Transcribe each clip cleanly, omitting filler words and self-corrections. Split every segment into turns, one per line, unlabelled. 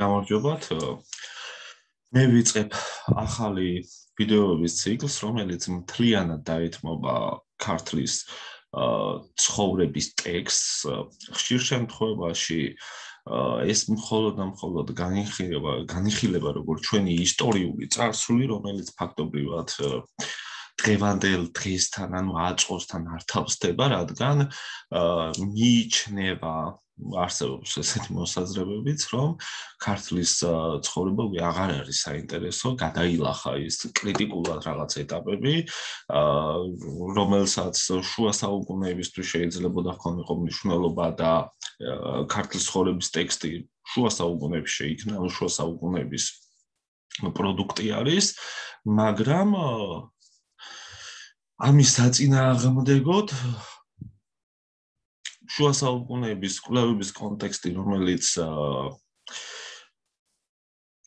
გამარჯობათ. მე ვიწყებ ახალი ვიდეოების ციკლს, რომელიც მთლიანად დაეთმობა ქართლის ცხოვრების ტექსტს. ხშირ შემთხვევაში ეს მხოლოდ განიხილება როგორც ჩვენი ისტორიული წარსული, რომელიც ფაქტობრივად დღევანდელ დღესთან, ანუ აწყვოსთან არ თავსდება, რადგან მიიჩნევა არსებობს ესეთი მოსაზრებებიც, რომ ქართლის ცხოვრება აღარ არის საინტერესო, გადაილახა ის კრიტიკულად რაღაც ეტაპები, რომელსაც შუა საუკუნეებისთვის შეიძლებოდა ჰქონიყო მნიშვნელობა და ქართლის ცხოვრების ტექსტი შუა საუკუნეებში შეიქმნა, ანუ შუა საუკუნეების პროდუქტი არის, მაგრამ ამის საწინააღმდეგოდ შუა საუკუნეების კვლევების კონტექსტი, რომელიც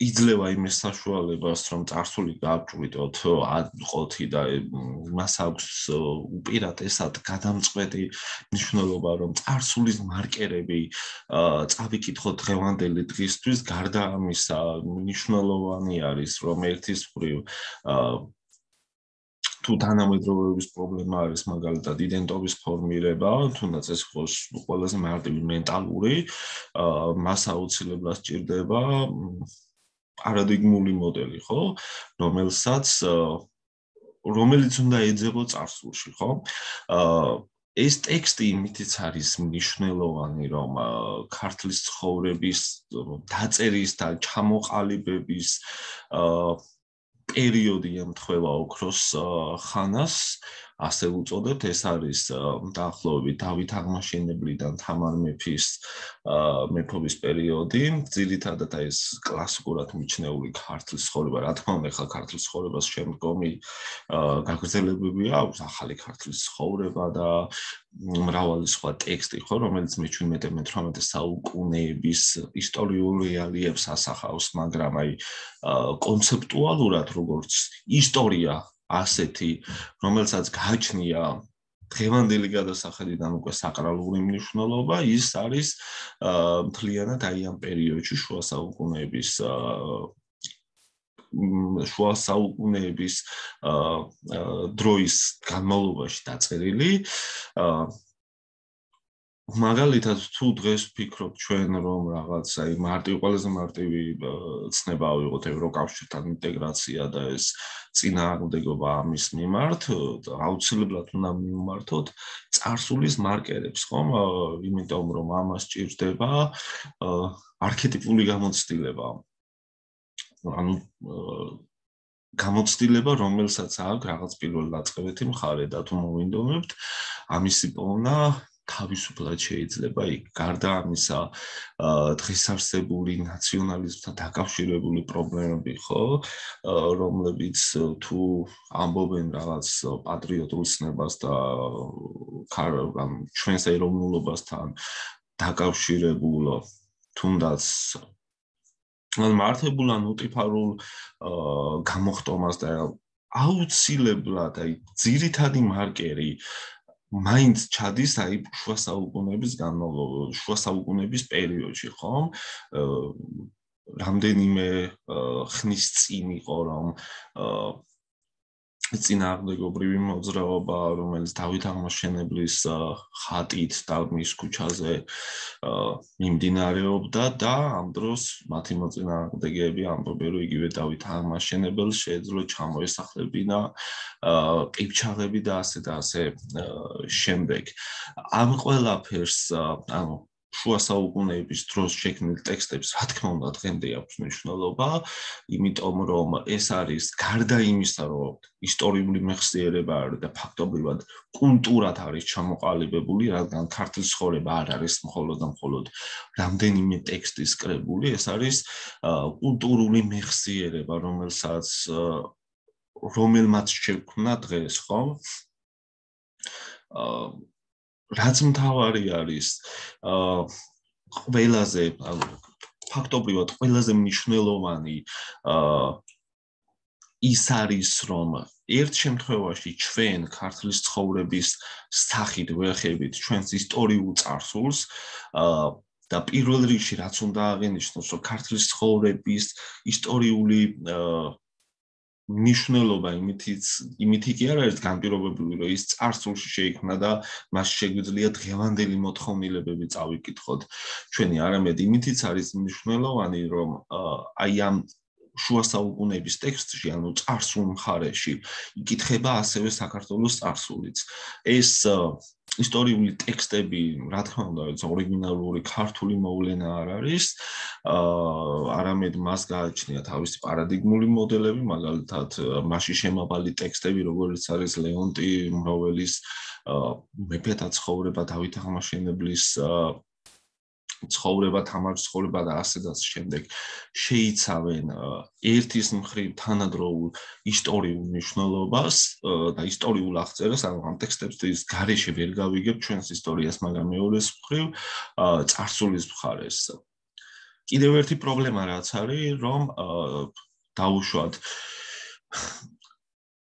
იძლევა იმის საშუალებას, რომ წარსული გააჭვრიტოთ ყოფი და მას აქვს უპირატესად გადამწყვეტი მნიშვნელობა, რომ წარსულის მარკერები წავიკითხოთ დღევანდელი დღისთვის, გარდა ამისა მნიშვნელოვანი არის, რომ ერთის მხრივ თუ თანამედროვეობის პრობლემა არის მაგალითად იდენტობის ფორმირება, თუნდაც ეს იყოს ყველაზე მარტივი მენტალური, მას აუცილებლად სჭირდება პარადიგმული მოდელი, ხო, რომელიც უნდა ეძებო წარსულში, ხო? ეს ტექსტი იმითიც არის მნიშვნელოვანი, რომ ქართლის ცხოვრების დაწერის და ჩამოყალიბების პერიოდი ემთხვევა ოქროს ხანას, ასე უწოდებთ, ეს არის დაახლოებით დავით აღმაშენებლიდან თამარ მეფის მეფობის პერიოდი, ძირითადად ეს კლასიკურად მიჩნეული ქართლის ცხოვრება, რა თქმა უნდა, ახლა ქართლის ცხოვრებას შემდგომი გაგრძელებები აქვს, ახალი ქართლის ცხოვრება და მრავალი სხვა ტექსტი, ხო, რომელიც მე-17-18 საუკუნეების ისტორიულ რეალიებს ასახავს, მაგრამ აი კონცეპტუალურად როგორც ისტორია ასეთი, რომელსაც გააჩნია დღევანდელი გადასახედიდან უკვე საკრალური მნიშვნელობა, ის არის მთლიანად აი ამ პერიოდში შუა საუკუნეების დროის განმავლობაში დაწერილი. მაგალითად, თუ დღეს ვფიქრობთ ჩვენ, რომ რაღაც აი ყველაზე მარტივი ცნება ავიღოთ ევროკავშირთან ინტეგრაცია და ეს წინააღმდეგობა ამის მიმართ, აუცილებლად უნდა მივმართოთ წარსულის მარკერებს, ხომ? იმიტომ რომ ამას სჭირდება არქეტიპული გამოცდილება. ანუ გამოცდილება, რომელსაც აქვს რაღაც პირველ დაწყებითი მხარე და თუ მოვინდომებთ, ამისი პოვნა თავისუფლად შეიძლება იქ. გარდა ამისა, დღეს არსებული ნაციონალიზმთან დაკავშირებული პრობლემები, ხო, რომლებიც თუ ამბობენ რაღაც პატრიოტულ ცნებას და ჩვენს ეროვნულობასთან დაკავშირებულ, თუნდაც მართებულ ან უტიფარულ გამოხტომას და აუცილებლად აი ძირითადი მარკერი მაინც ჩადის აი შუა საუკუნეების პერიოდში, ხომ? რამდენიმე ხნის წინ იყო, რომ წინააღმდეგობრივი მოძრაობა, რომელიც დავით აღმაშენებლის ხატით და მის ქუჩაზე მიმდინარეობდა და ამ დროს მათი მოწინააღმდეგეები ამბობენ, რომ იგივე დავით აღმაშენებელს შეეძლო ჩამოესახლებინა ყივჩაღები და ასე შემდეგ. ამ ყველაფერს, ანუ შუა საუკუნეების დროს შექმნილ ტექსტებს, რა თქმა უნდა, დღემდე აქვს მნიშვნელობა, იმიტომ რომ ეს არის გარდა იმისა, რომ ისტორიული მეხსიერება არის და ფაქტობრივად კულტურად არის ჩამოყალიბებული, რადგან ქართლის ცხოვრება არ არის მხოლოდ რამდენიმე ტექსტის კრებული, ეს არის კულტურული მეხსიერება, რომელმაც შექმნა დღეს, ხო? რაც მთავარი არის, ფაქტობრივად ყველაზე მნიშვნელოვანი ის არის, რომ ერთ შემთხვევაში ჩვენ ქართლის ცხოვრების სახით ვეხებით ჩვენს ისტორიულ წარსულს და პირველ რიგში რაც უნდა აღინიშნოს, რომ ქართლის ცხოვრების ისტორიული მნიშვნელობა იმითი კი არ არის განპირობებული, რომ ის წარსულში შეიქმნა და მას შეგვიძლია დღევანდელი მოთხოვნილებები წავიკითხოთ ჩვენი, არამედ იმითიც არის მნიშვნელოვანი, რომ აი ამ შუა საუკუნეების ტექსტში, ანუ წარსულ მხარეში, იკითხება ასევე საქართველოს წარსულიც. ეს ისტორიული ტექსტები, რა თქმა უნდა, ორიგინალური ქართული მოვლენა არ არის, არამედ მას გააჩნია თავისი პარადიგმული მოდელები, მაგალითად, მასში შემავალი ტექსტები, როგორც არის ლეონტი მროველის მეფეთა ცხოვრება, დავით აღმაშენებლის ცხოვრება, თამარის ცხოვრება და ასედაც შემდეგ შეიცავენ ერთის მხრივ თანადროულ ისტორიულ მნიშვნელობას და ისტორიულ აღწერას, ანუ ამ ტექსტების გარეშე ვერ გავიგებ ჩვენს ისტორიას, მაგრამ მეორეს მხრივ წარსულის მხარეს. კიდევ ერთი პრობლემა რაც არის, რომ დაუშვათ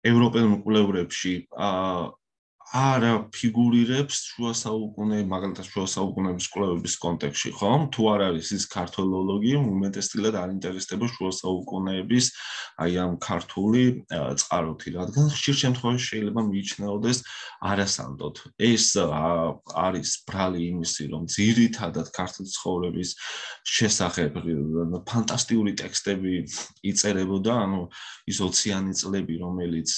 ევროპელ მკვლევრებში არა ფიგურირებს შუა საუკუნე, მაგალითად შუა საუკუნეების კვლევების კონტექსტში, ხომ? თუ არ არის ის ქართოლოლოგი, უმეტესწილად არ ინტერესდება შუა საუკუნეების აი ამ ქართული წყაროთი, რადგან ხშირ შემთხვევაში შეიძლება მიიჩნეოდეს არასანდოდ. ეს არის ბრალი იმისი, რომ ძირითადად ქართლის ცხოვრების შესახებ ფანტასტიკური ტექსტები იწერებოდა, ანუ ის 20-იანი წლები, რომელიც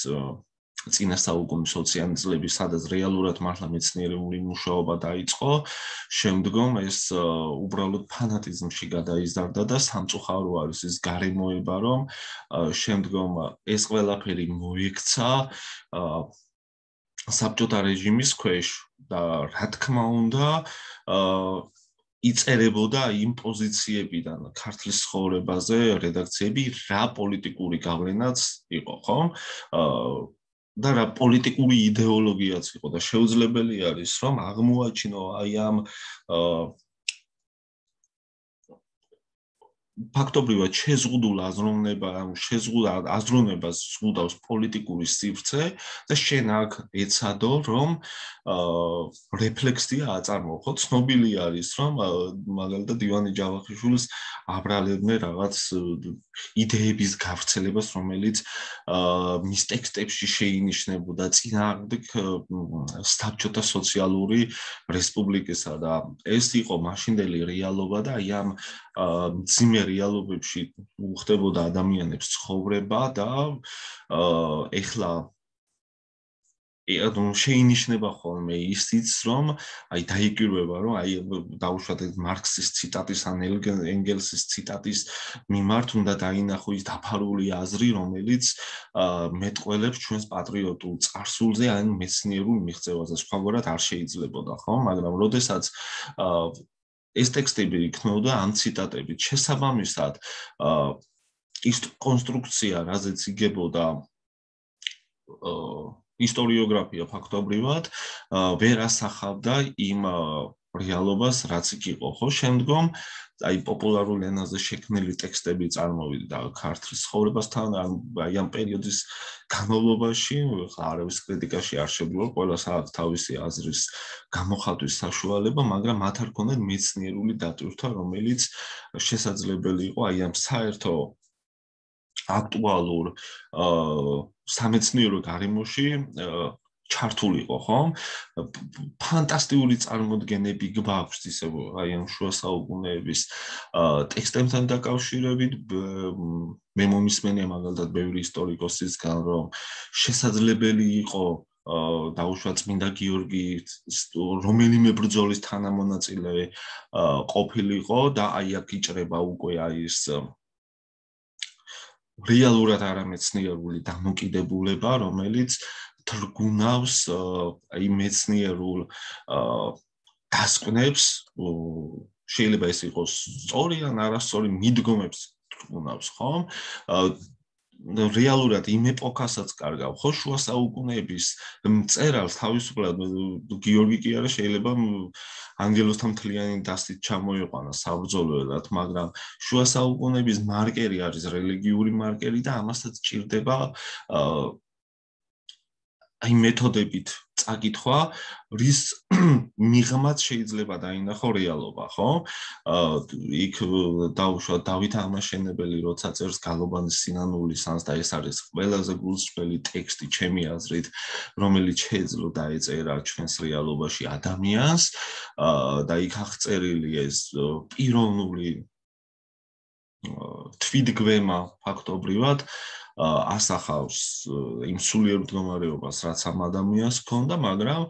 წინა საუკუნის 20-იანი წლები, სადაც რეალურად მართლა მეცნიერული მუშაობა დაიწყო, შემდგომ ეს უბრალოდ ფანატიზმში გადაიზარდა და სამწუხარო არის ის გარემოება, რომ შემდგომ ეს ყველაფერი მოექცა საბჭოთა რეჟიმის ქვეშ და რა თქმა უნდა იწერებოდა იმ პოზიციებიდან ქართლის ცხოვრებაზე რედაქციები, რა პოლიტიკური გავლენაც იყო, ხო? და რა პოლიტიკური იდეოლოგიაც იყო და შეუძლებელი არის, რომ აღმოაჩინო აი ამ ფაქტობრივად შეზღუდულ აზროვნებას ზღუდავს პოლიტიკური სივრცე და შენ აქ ეცადო, რომ რეფლექსია აწარმოო. ცნობილი არის, რომ მაგალითად ივანე ჯავახიშვილს აბრალებდნენ რაღაც იდეების გავრცელებას, რომელიც მის ტექსტებში შეინიშნებოდა წინააღმდეგ საბჭოთა სოციალური რესპუბლიკისა და ეს იყო მაშინდელი რეალობა და აი ამ მძიმე რეალობებში უხდებოდა ადამიანებს ცხოვრება და ეხლა შეინიშნება ხოლმე ისიც, რომ აი დაიკვირვება, რომ აი დაუშვათ მარქსის ციტატის ან ენგელსის ციტატის მიმართ უნდა დაინახო ის დაფარული აზრი, რომელიც მეტყველებს ჩვენს პატრიოტულ წარსულზე, ან მეცნიერულ მიღწევაზე, სხვაგვარად არ შეიძლებოდა, ხო? მაგრამ როდესაც ეს ტექსტები იქნებოდა ამ ციტატებით, შესაბამისად ის კონსტრუქცია, რაზეც იგებოდა ისტორიოგრაფია ფაქტობრივად ვერ ასახავდა იმ რეალობას, რაც იქ იყო, ხო? შემდგომ აი პოპულარულ ენაზე შექმნილი ტექსტები წარმოვიდა ქართლის ცხოვრებასთან, აი ამ პერიოდის განმავლობაში, ხა არავის კრიტიკაში არ შეგვიძლია, ყველას აქვს თავისი აზრის გამოხატვის საშუალება, მაგრამ მათ არ ქონდათ მეცნიერული დატვირთვა, რომელიც შესაძლებელი იყო აი ამ საერთო აქტუალურ სამეცნიერო გარემოში ჩართულიყო, ხო? ფანტასტიკური წარმოდგენები გვაქვს ისე აი ამ შუა საუკუნეების ტექსტებთან დაკავშირებით. მე მომისმენია მაგალითად ბევრი ისტორიკოსისგან, რომ შესაძლებელი იყო დაუშვათ წმინდა გიორგი რომელიმე ბრძოლის თანამონაწილე ყოფილიყო და აი აქ იჭრება უკვე აი ეს რეალურად არამეცნიერული დამოკიდებულება, რომელიც თრგუნავს აი მეცნიერულ დასკვნებს, შეიძლება ეს იყოს სწორი ან არასწორი მიდგომებს თრგუნავს, ხო? რეალურად იმ ეპოქასაც კარგავ, ხო? შუა საუკუნეების მწერალს თავისუფლად გიორგი კი არა, შეიძლება ანგელოზთა მთლიანი დასით ჩამოიყვანა საბრძოლველად, მაგრამ შუა საუკუნეების მარკერი არის რელიგიური მარკერი და ამასაც ჭირდება აი მეთოდებით წაკითხვა, რის მიღმაც შეიძლება დაინახო რეალობა, ხო? იქ დაუშვა დავით აღმაშენებელი, როცა წერს გალობანის სინანულის ანს და ეს არის ყველაზე გულსჯელი ტექსტი ჩემი აზრით, რომელიც შეეძლო დაეწერა ჩვენს რეალობაში ადამიანს და იქ აღწერილი ეს პიროვნული თვითგვემა ფაქტობრივად ასახავს იმ სულიერ მდგომარეობას, რაც ამ ადამიანს ჰქონდა, მაგრამ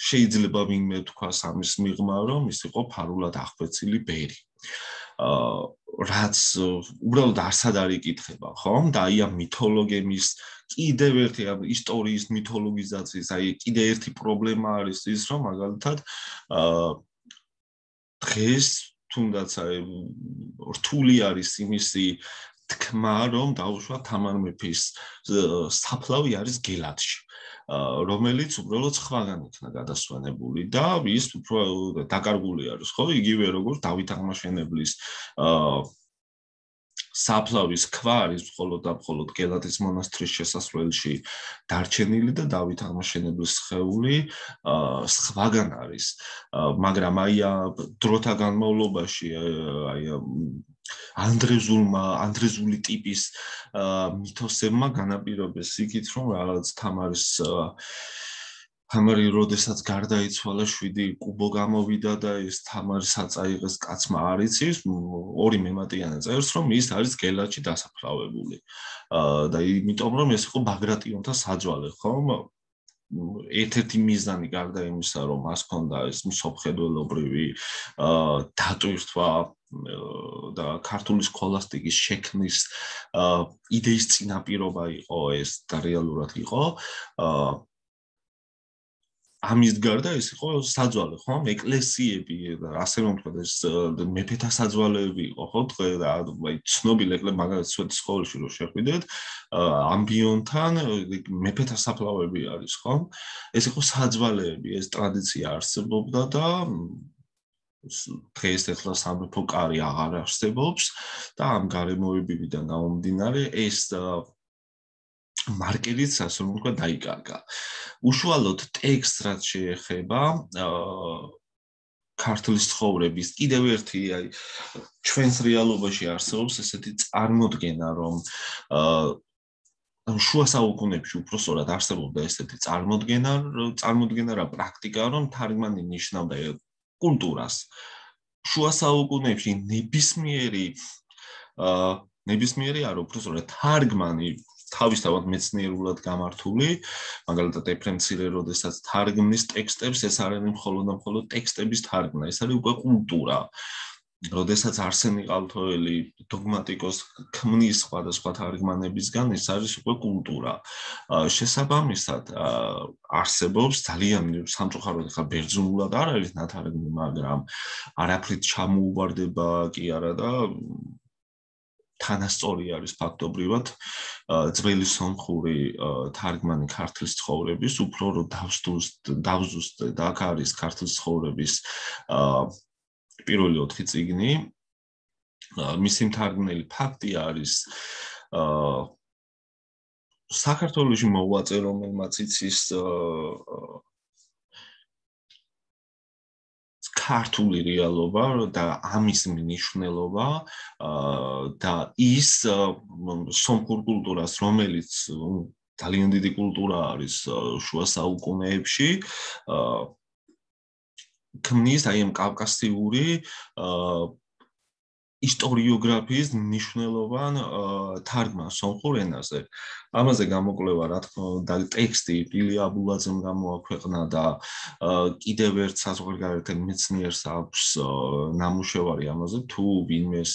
შეიძლება ვინმე თქვას ამის მიღმა, რომ ის იყო ფარულად აღკვეცილი ბერი. რაც უბრალოდ არსად არ იკითხება, ხო? და აი ამ მითოლოგემის კიდევ ერთი ამ ისტორიის მითოლოგიზაციის, აი კიდევ ერთი პრობლემა არის ის, რომ მაგალითად დღეს თუნდაც რთული არის იმისი თქმა, რომ დაუშვა თამარ მეფის საფლავი არის გელათში, რომელიც უბრალოდ სხვაგან იქნა გადასვენებული და ის უფრო დაკარგული არის, ხო? იგივე როგორც დავით აღმაშენებლის საფლავის ქვა არის მხოლოდ და მხოლოდ გელათის მონასტრის შესასვლელში დარჩენილი და დავით აღმაშენებლის სხეული სხვაგან არის, მაგრამ აი დროთა განმავლობაში აი ანდრეზული ტიპის მითოსებმა განაპირობეს იქით, რომ რაღაც თამარი როდესაც გარდაიცვალა 7 კუბო გამოვიდა და ეს თამარის აწაიღეს კაცმა არ იცის, ორი მემატიანე წერს, რომ ის არის გელათში დასაფლავებული. და იმიტომ რომ ეს იყო ბაგრატიონთა საძვალე, ხომ? ერთ-ერთი მიზანი გარდა იმისა, რომ მას ჰქონდა ეს მსოფლმხედველობრივი დატვირთვა და ქართული სქოლასტიკის შექმნის იდეის წინაპირობა იყო ეს და რეალურად იყო ამის გარდა ეს იყო საძვალე, ხო? ეკლესიები, ასე რომ ვთქვათ, ეს მეფეთა საძვალეები იყო, ხო? აი ცნობილი მაგალითად სვეტის სკოლაში რო შეხვიდეთ, ამბიონთან მეფეთა საფლავები არის, ხო? ეს იყო საძვალეები, ეს ტრადიცია არსებობდა და დღეს ახლა სამეფო კარი აღარ არსებობს და ამ გარემოებებიდან გამომდინარე ეს მარკერიც ასე რომ ვთქვა დაიკარგა. უშუალოდ ტექსტს რაც შეეხება ქართლის ცხოვრების კიდევ ერთი აი ჩვენს რეალობაში არსებობს ესეთი წარმოდგენა, რომ შუა საუკუნეებში უпроსორად არსებობდა ესეთი წარმოდგენა რა პრაქტიკა, რომ თარგმანი ნიშნავდა კულტურას. შუა საუკუნეებში ნებისმიერი არ უпроსორად თარგმანი თავისთავად მეცნიერულად გამართული, მაგალითად ეფრემ მცირე როდესაც თარგმნის ტექსტებს, ეს არ არის მხოლოდ ტექსტების თარგმნა, ეს არის უკვე კულტურა. როდესაც არსენი ყალთოელი დოგმატიკოს ქმნის სხვადასხვა თარგმანებისგან, ეს არის უკვე კულტურა. შესაბამისად, არსებობს ძალიან სამწუხაროდ ხა ბერძნულად არ არის ნათარგმნი, მაგრამ არაფრით ჩამოუვარდება კი არა და თანასწორი არის ფაქტობრივად ძველი სომხური თარგმანი ქართლის ცხოვრების, უფრო რომ დავზუსტე და აქ არის ქართლის ცხოვრების პირველი 4 წიგნი. მისი მთარგმნელი ფაქტი არის საქართველოში მოღვაწე, რომელმაც იცის ქართული რეალობა და ამის მნიშვნელობა და ის სომხურ კულტურას, რომელიც ძალიან დიდი კულტურა არის შუა საუკუნეებში, ქმნის აი ამ კავკასიური ისტორიოგრაფიის მნიშვნელოვან თარგმანს სომხურ ენაზე. ამაზე გამოკვლევა, რა თქმა უნდა, ტექსტი ილია აბულაძემ გამოაქვეყნა და კიდევ ერთ საზღვარგარეთ მეცნიერს აქვს ნამუშევარი ამაზე, თუ ვინმეს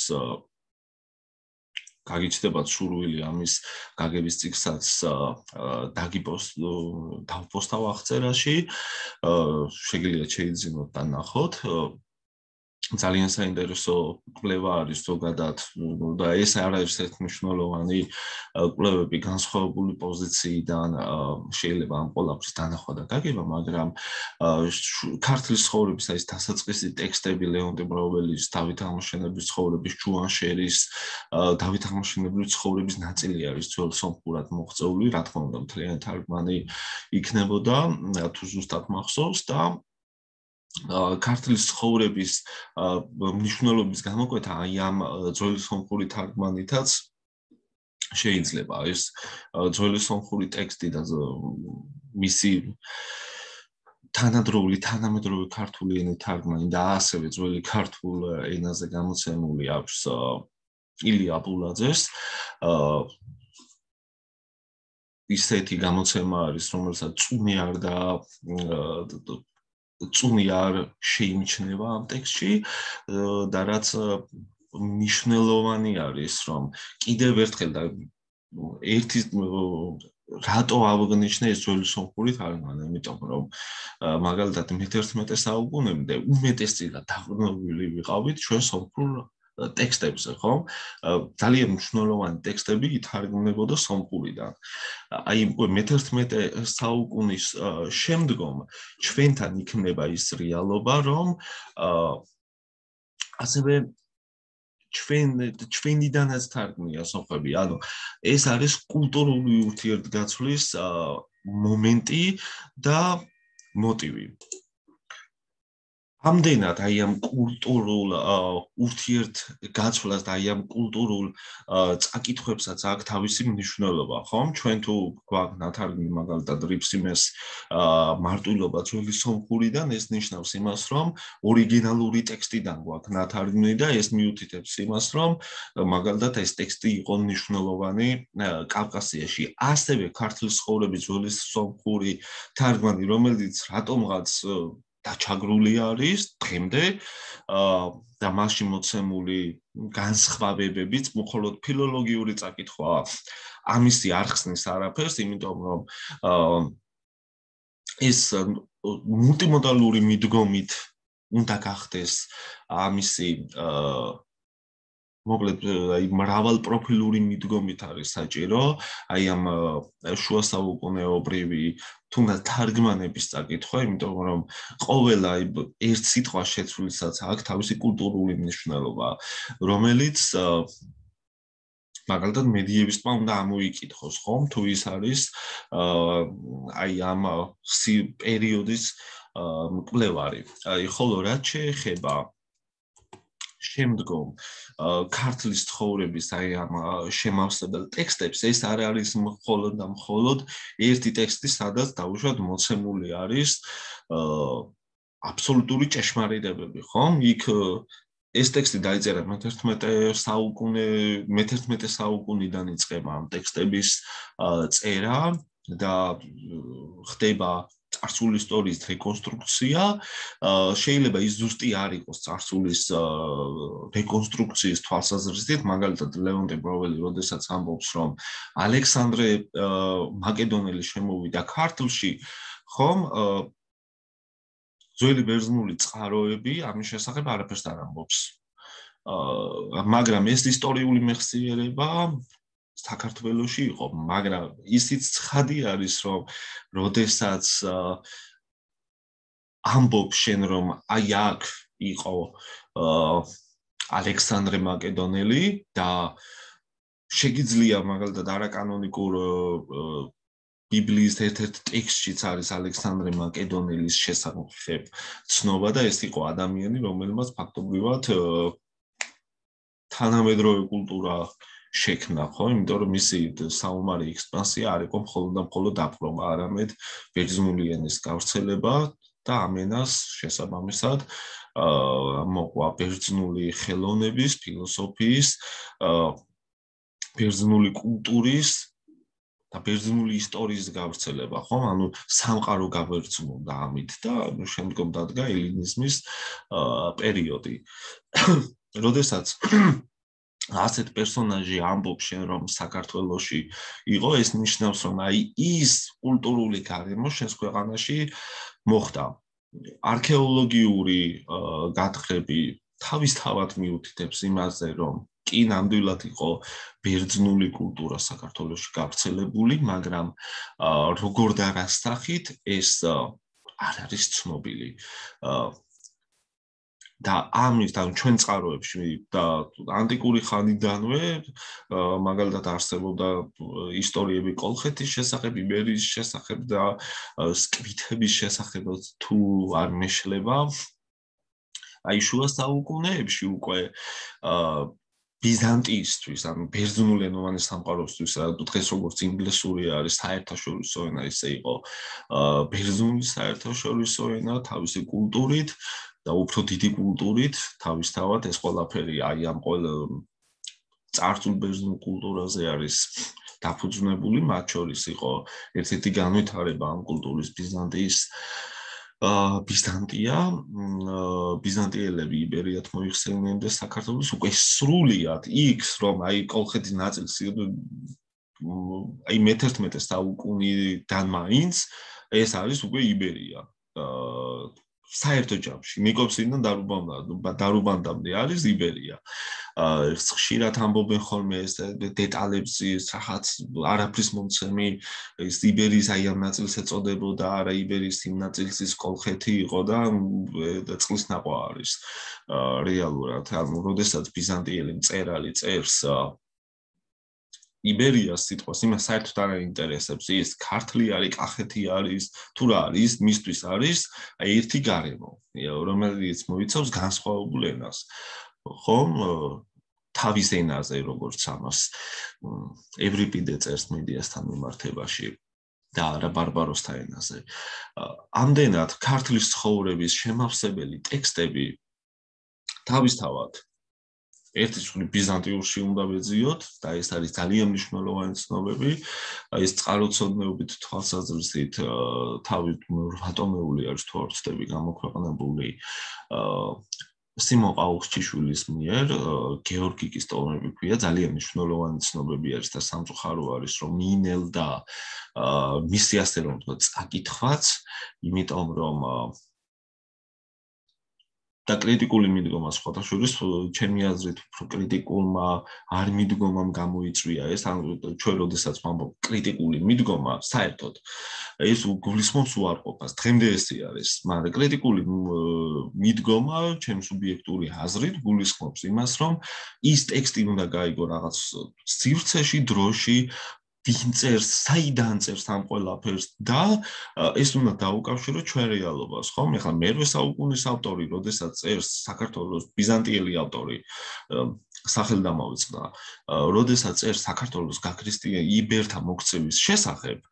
გაგიჩნდებათ სურვილი ამის გაგების წიგნსაც დავპოსტავ აღწერაში, შეგიძლიათ შეიძინოთ და ნახოთ. ძალიან საინტერესო კვლევა არის ზოგადად და ეს არ არის ერთმნიშვნელოვანი კვლევები განსხვავებული პოზიციიდან შეიძლება ამ ყველაფრის დანახვა და გაგება, მაგრამ ქართლის ცხოვრების ეს დასაწყისი ტექსტები ლეონტი ბრაუველის, დავით აღმაშენებლის ცხოვრების, ჯუანშერის, დავით აღმაშენებლის ცხოვრების ნაწილი არის ძველ სომხურად მოღწეული, რა თქმა უნდა, მთლიანი თარგმანი იქნებოდა, თუ ზუსტად მახსოვს და ქართლის ცხოვრების მნიშვნელობის გამოკვეთა აი ამ ძველი სომხური თარგმანითაც შეიძლება ეს ძველი სომხური ტექსტი და მისი თანამედროვე ქართული ენის თარგმანი და ასევე ძველი ქართულ ენაზე გამოცემული აქვს ილია ბულაძეს ისეთი გამოცემა არის, რომელსაც წუნი არ შეიმჩნევა ამ ტექსტში და რაც მნიშვნელოვანი არის, რომ კიდევ ერთხელ და ერთის რატო აღნიშნე ეს ძველი სომხური თარგმანი, იმიტომ რომ მაგალითად მე-11 საუკუნემდე უმეტესწილად დაყრდნობილი ვიყავით ჩვენ სომხურ ტექსტებზე, ხო? ძალიან მნიშვნელოვანი ტექსტები ითარგმნებოდა სომხურიდან. აი მე-11 საუკუნის შემდგომ ჩვენთან იქნება ის რეალობა, რომ ასევე ჩვენიდანაც თარგმნია სომხები, ანუ ეს არის კულტურული ურთიერთგაცვლის მომენტი და მოტივი. ამდენად აი ამ კულტურულ ურთიერთგაცვლას და აი ამ კულტურულ წაკითხვებსაც აქვს თავისი მნიშვნელობა, ხომ? ჩვენ თუ გვაქვს ნათარგმნი მაგალითად რიფსიმეს მარტვილობა ძველი სომხურიდან, ეს ნიშნავს იმას, რომ ორიგინალური ტექსტიდან გვაქვს ნათარგმნი და ეს მიუთითებს იმას, რომ მაგალითად ეს ტექსტი იყო მნიშვნელოვანი კავკასიაში. ასევე ქართლის ცხოვრების ძველი სომხური თარგმანი, რომელიც რატომღაც დაჩაგრული არის დღემდე და მასში მოცემული განსხვავებებიც მხოლოდ ფილოლოგიური წაკითხვა ამისი არ ხსნის არაფერს, იმიტომ რომ ეს მულტიმოდალური მიდგომით უნდა გახდეს ამისი მოკლედ აი მრავალპროფილური მიდგომით არის საჭირო აი ამ შუა საუკუნეობრივი თუნდაც თარგმანების წაკითხვა, იმიტომ რომ ყოველ აი ერთ სიტყვას შეცვლილსაც აქვს თავისი კულტურული მნიშვნელობა, რომელიც მაგალითად მედიევისტმა უნდა ამოიკითხოს, ხომ? თუ ის არის აი ამ პერიოდის მკვლევარი. აი ხოლო რაც შეეხება შემდგომ ქართლის ცხოვრების აი ამ შემავსებელ ტექსტებს ეს არ არის მხოლოდ და მხოლოდ ერთი ტექსტი, სადაც დაუშვათ მოცემული არის აბსოლუტური ჭეშმარიტებები, ხომ? იქ ეს ტექსტი დაიწერა მე-11 საუკუნიდან იწყება ამ ტექსტების წერა და ხდება წარსული ისტორიის რეკონსტრუქცია, შეიძლება ის ზუსტი არ იყოს წარსულის რეკონსტრუქციის თვალსაზრისით, მაგალითად ლეონტი ბროველი როდესაც ამბობს, რომ ალექსანდრე მაკედონელი შემოვიდა ქართლში, ხომ? ძველი ბერძნული წყაროები ამის შესახებ არაფერს არ ამბობს. მაგრამ ეს ისტორიული მეხსიერება საქართველოში იყო, მაგრამ ისიც ცხადი არის, რომ როდესაც ამბობს შენ, რომ აი აქ იყო ალექსანდრე მაკედონელი და შეგიძლია მაგალითად არაკანონიკურ ბიბლიის ერთ-ერთ ტექსტშიც არის ალექსანდრე მაკედონელის შესახებ ცნობა და ეს იყო ადამიანი, რომელმაც ფაქტობრივად თანამედროვე კულტურა შექმნა, ხო? იმიტომ რომ მისი საომარი ექსპანსია არ იყო მხოლოდ და მხოლოდ დაპყრობა, არამედ ბერძნული ენის გავრცელება და ამ ენას შესაბამისად მოყვა ბერძნული ხელოვნების, ფილოსოფიის, ბერძნული კულტურის და ბერძნული ისტორიის გავრცელება, ხო? ანუ სამყარო გავერძნულდა ამით და შემდგომ დადგა ელინიზმის პერიოდი. როდესაც ასეთ პერსონაჟი ამბობს შენ რომ საქართველოში იყო, ეს ნიშნავს რომ აი ის კულტურული გარემო შენს ქვეყანაში მოხდა. არქეოლოგიური გათხრები თავისთავად მიუთითებს იმაზე, რომ კი ნამდვილად იყო ბერძნული კულტურა საქართველოში გავრცელებული, მაგრამ როგორ და რა სახით ეს არ არის ცნობილი. და ამიტომ ჩვენ წყაროებში და ანტიკური ხანიდანვე მაგალითად არსებობდა ისტორიები კოლხეთის შესახებ, იბერიის შესახებ და სკვითების შესახებ თუ არ მეშლება აი შუა საუკუნეებში უკვე ბიზანტიისთვის, ანუ ბერძნულენოვანი სამყაროსთვის, დღეს როგორც ინგლისური არის საერთაშორისო ენა, ისე იყო ბერძნული საერთაშორისო ენა თავისი კულტურით და უფრო დიდი კულტურით, თავისთავად ეს ყველაფერი აი ამ წარსულ ბერძნულ კულტურაზე არის დაფუძნებული, მათ შორის იყო ერთ-ერთი განვითარება ამ კულტურის ბიზანტიელები იბერიათ მოიხსენიდნენ და საქართველოს უკვე სრულიად იქ, რომ აი კოლხეთის ნაწილს აი მე-11 საუკუნიდან მაინც ეს არის უკვე იბერია. საერთო ჯამში ნიკოპსიდან დარუბანდამდე არის იბერია. ხშირად ამბობენ ხოლმე ეს დეტალებს რაღაც არაფრის მომცემი ეს იბერიის აი ამ ნაწილს ეწოდებოდა, არა იბერიის იმ ნაწილს ის კოლხეთი იყო და წყლის ნაყვა არის რეალურად. ანუ როდესაც ბიზანტიელი მწერალი წერს იბერიას სიტყვას იმას საერთოდ არ აინტერესებს ის ქართლი არის, კახეთი არის, თუ რა არის, მისთვის არის აი ერთი გარემო, რომელიც მოიცავს განსხვავებულ ენას. ხომ თავის ენაზე როგორც ამას ევრიპიდე წერს მედიასთან მიმართებაში და არა ბარბაროსთა ენაზე. ამდენად ქართლის ცხოვრების შემავსებელი ტექსტები თავისთავად ერთი წული ბიზანტიურში უნდა ვეძიოთ და ეს არის ძალიან მნიშვნელოვანი ცნობები. ეს წყაროцодნეობით თვალსაზრისით თავით რვატომეული არის თუ არ ვცდები გამოქვეყნებული სიმონ ყაუხჩიშვილის მიერ გეორგიკის ტომები ქვია, ძალიან მნიშვნელოვანი ცნობები არის და სამწუხარო არის რომ მიინელ და მისი ასე რომ ვთქვათ წაკითხვაც, იმიტომ რომ და კრიტიკული მიდგომა სხვადასხვა ჩემი აზრით უფრო კრიტიკულმა არ მიდგომამ გამოიწვია ეს, ანუ ჩვენ როდესაც ვამბობ კრიტიკული მიდგომა, საერთოდ ეს გულისხმობს უარყოფას, დღემდე ესე არის, მაგრამ კრიტიკული მიდგომა ჩემ სუბიექტური აზრით გულისხმობს იმას, რომ ის ტექსტი უნდა გაიგო რაღაც სივრცეში, დროში, ვინ წერს, საიდან წერს ამ ყველაფერს და ეს უნდა დაუკავშირო ჩვენ რეალობას, ხომ? ეხლა მე-8 საუკუნის ავტორი, როდესაც წერს საქართველოს ბიზანტიელი ავტორი, სახელი დამოვიწყდა, როდესაც წერს საქართველოს გაქრისტიან იბერთა მოქცევის შესახებ,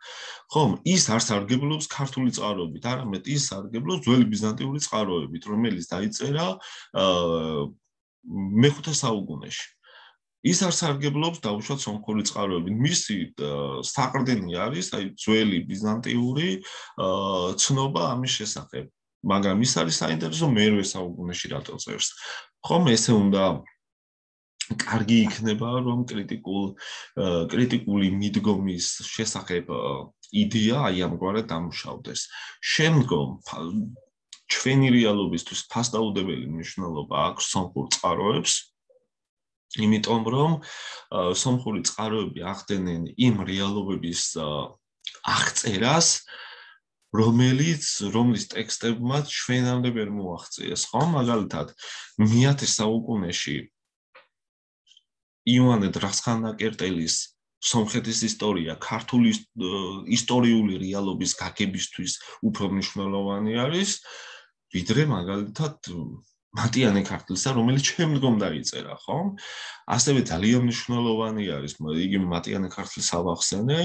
ხომ? ის არ სარგებლობს ქართული წყაროებით, არამედ ის სარგებლობს ძველი ბიზანტიური წყაროებით, რომელიც დაიწერა მე-5 საუკუნეში. ის არ სარგებლობს დაუშვათ სომხური წყაროებით. მისი საყრდენი არის აი ძველი ბიზანტიური ცნობა ამის შესახებ. მაგრამ ის არის საინტერესო მე-8 საუკუნეში რატო წერს. ხომ ესე უნდა კარგი იქნება რომ კრიტიკული მიდგომის შესახებ იდეა აი ამგვარად დამუშავდეს. შემდგომ ჩვენი რეალობისთვის ფასდაუდებელი მნიშვნელობა აქვს სომხურ წყაროებს. იმიტომ რომ სომხური წყაროები ახდენენ იმ რეალობების აღწერას, რომლის ტექსტებმაც ჩვენამდე ვერ მოაღწიეს, ხო? მაგალითად, მე-10 საუკუნეში იოანე დრახსხანაკერტელის სომხეთის ისტორია ქართული ისტორიული რეალობის გაგებისთვის უფრო მნიშვნელოვანი არის, ვიდრე მაგალითად მატიანე ქართლისა, რომელიც შემდგომ დაიწერა, ხო? ასევე ძალიან მნიშვნელოვანი არის, იგი მატიანე ქართლის ავახსენე,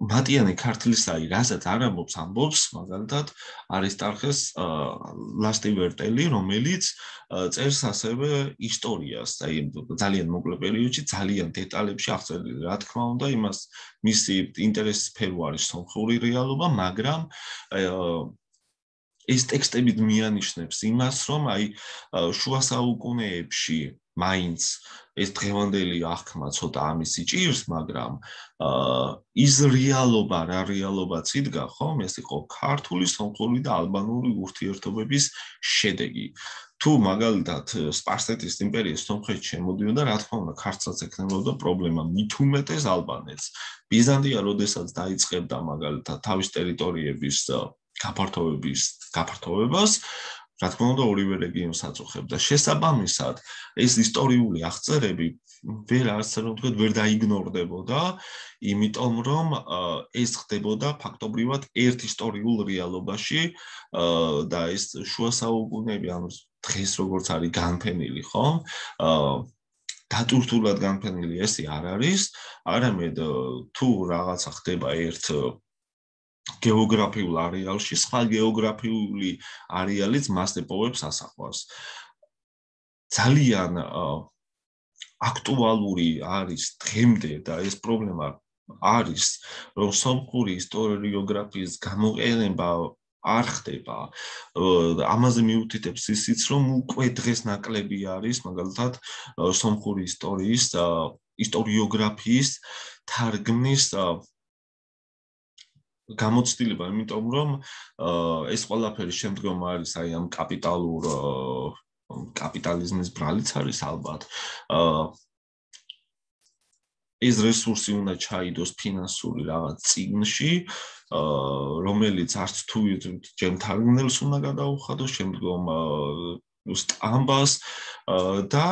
მატიანე ქართლისაი, რასაც არ ამბობს, მაგალითად, არისტარხეს ლასტივერტელი, რომელიც წერს ასევე ისტორიას, აი ძალიან მოკლე პერიოდში, ძალიან დეტალებში აღწერილი, რა თქმა უნდა, იმას მისი ინტერესის სფერო არის სომხური რეალობა, მაგრამ ეს ტექსტები მიანიშნებს იმას, რომ აი შუა საუკუნეებში მაინც ეს დღევანდელი აღქმა ცოტა ამის იჭირს, მაგრამ ის რეალობა, რა რეალობაც იდგა, ხომ? ეს იყო ქართული, სომხური და ალბანური ურთიერთობების შედეგი. თუ მაგალითად სპარსეთის იმპერიის სომხეთში შემოდიოდა, რა თქმა უნდა, ქართლსაც ექნებოდა პრობლემა, მით უმეტეს ალბანეთს. ბიზანტია როდესაც დაიწყებდა მაგალითად თავის ტერიტორიების გაფართოვებას, რა თქმა უნდა, ორივე რეგიონს აწუხებდა. შესაბამისად, ეს ისტორიული აღწერები ვერ დაიგნორდებოდა, იმიტომ რომ ეს ხდებოდა ფაქტობრივად ერთ ისტორიულ რეალობაში და ეს შუა საუკუნეები, ანუ დღეს როგორც არის განფენილი, ხომ? დატვირთულად განფენილი ესე არ არის, არამედ თუ რაღაცა ხდება ერთ გეოგრაფიულ არეალში, სხვა გეოგრაფიული არეალიც მას ეპოვებს ასახვას. ძალიან აქტუალური არის დღემდე და ეს პრობლემა არის, რომ სომხური ისტორიოგრაფიის გამოყენება არ ხდება. ამაზე მიუთითებს ისიც, რომ უკვე დღეს ნაკლები არის, მაგალითად, სომხური ისტორიის ისტორიოგრაფიის თარგმნის გამოცდილება, იმიტომ რომ ეს ყველაფერი შემდგომ არის აი ამ კაპიტალიზმის ბრალიც არის ალბათ. ეს რესურსი უნდა ჩაიდოს ფინანსური რაღაც წიგნში, რომელიც არც თუ ჯერ თარგმნელს უნდა გადაუხადოს, შემდგომ სტამბას და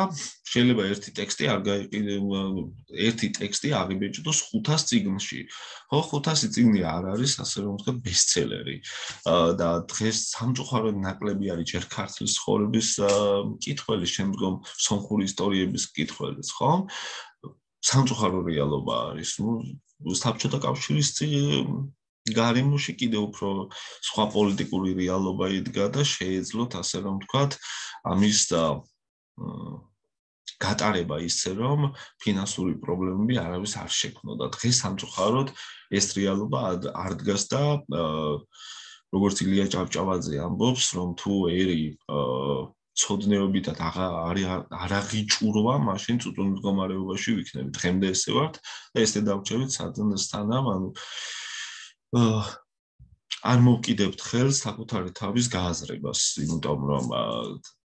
შეიძლება ერთი ტექსტი აღიბეჭდოს 500 წიგნში. ხო, 500 წიგნი არ არის, ასე რომ ვთქვათ, ბესტსელერი. და დღეს სამწუხაროდ ნაკლები არის ჯერ ქართლის ცხოვრების მკითხველი, შემდგომ სომხური ისტორიების მკითხველიც, ხო? სამწუხარო რეალობა არის. საბჭოთა კავშირის გარემოში კიდევ უფრო სხვა პოლიტიკური რეალობა იდგა და შეეძლოთ, ასე რომ ვთქვათ, ამის გატარება ისე, რომ ფინანსური პრობლემები არავის არ შექმნოდა. დღეს სამწუხაროდ ეს რეალობა არ დგას და როგორც ილია ჭავჭავაძე ამბობს, რომ თუ ერი ცოდნეობითად არ აღიჭურვა, მაშინ წუწუნ მდგომარეობაში ვიქნებით. დღემდე ესე ვართ და ესე დავჭერით სანამ, ანუ არ მოვკიდებთ ხელს საკუთარი თავის გააზრებას, იმიტომ რომ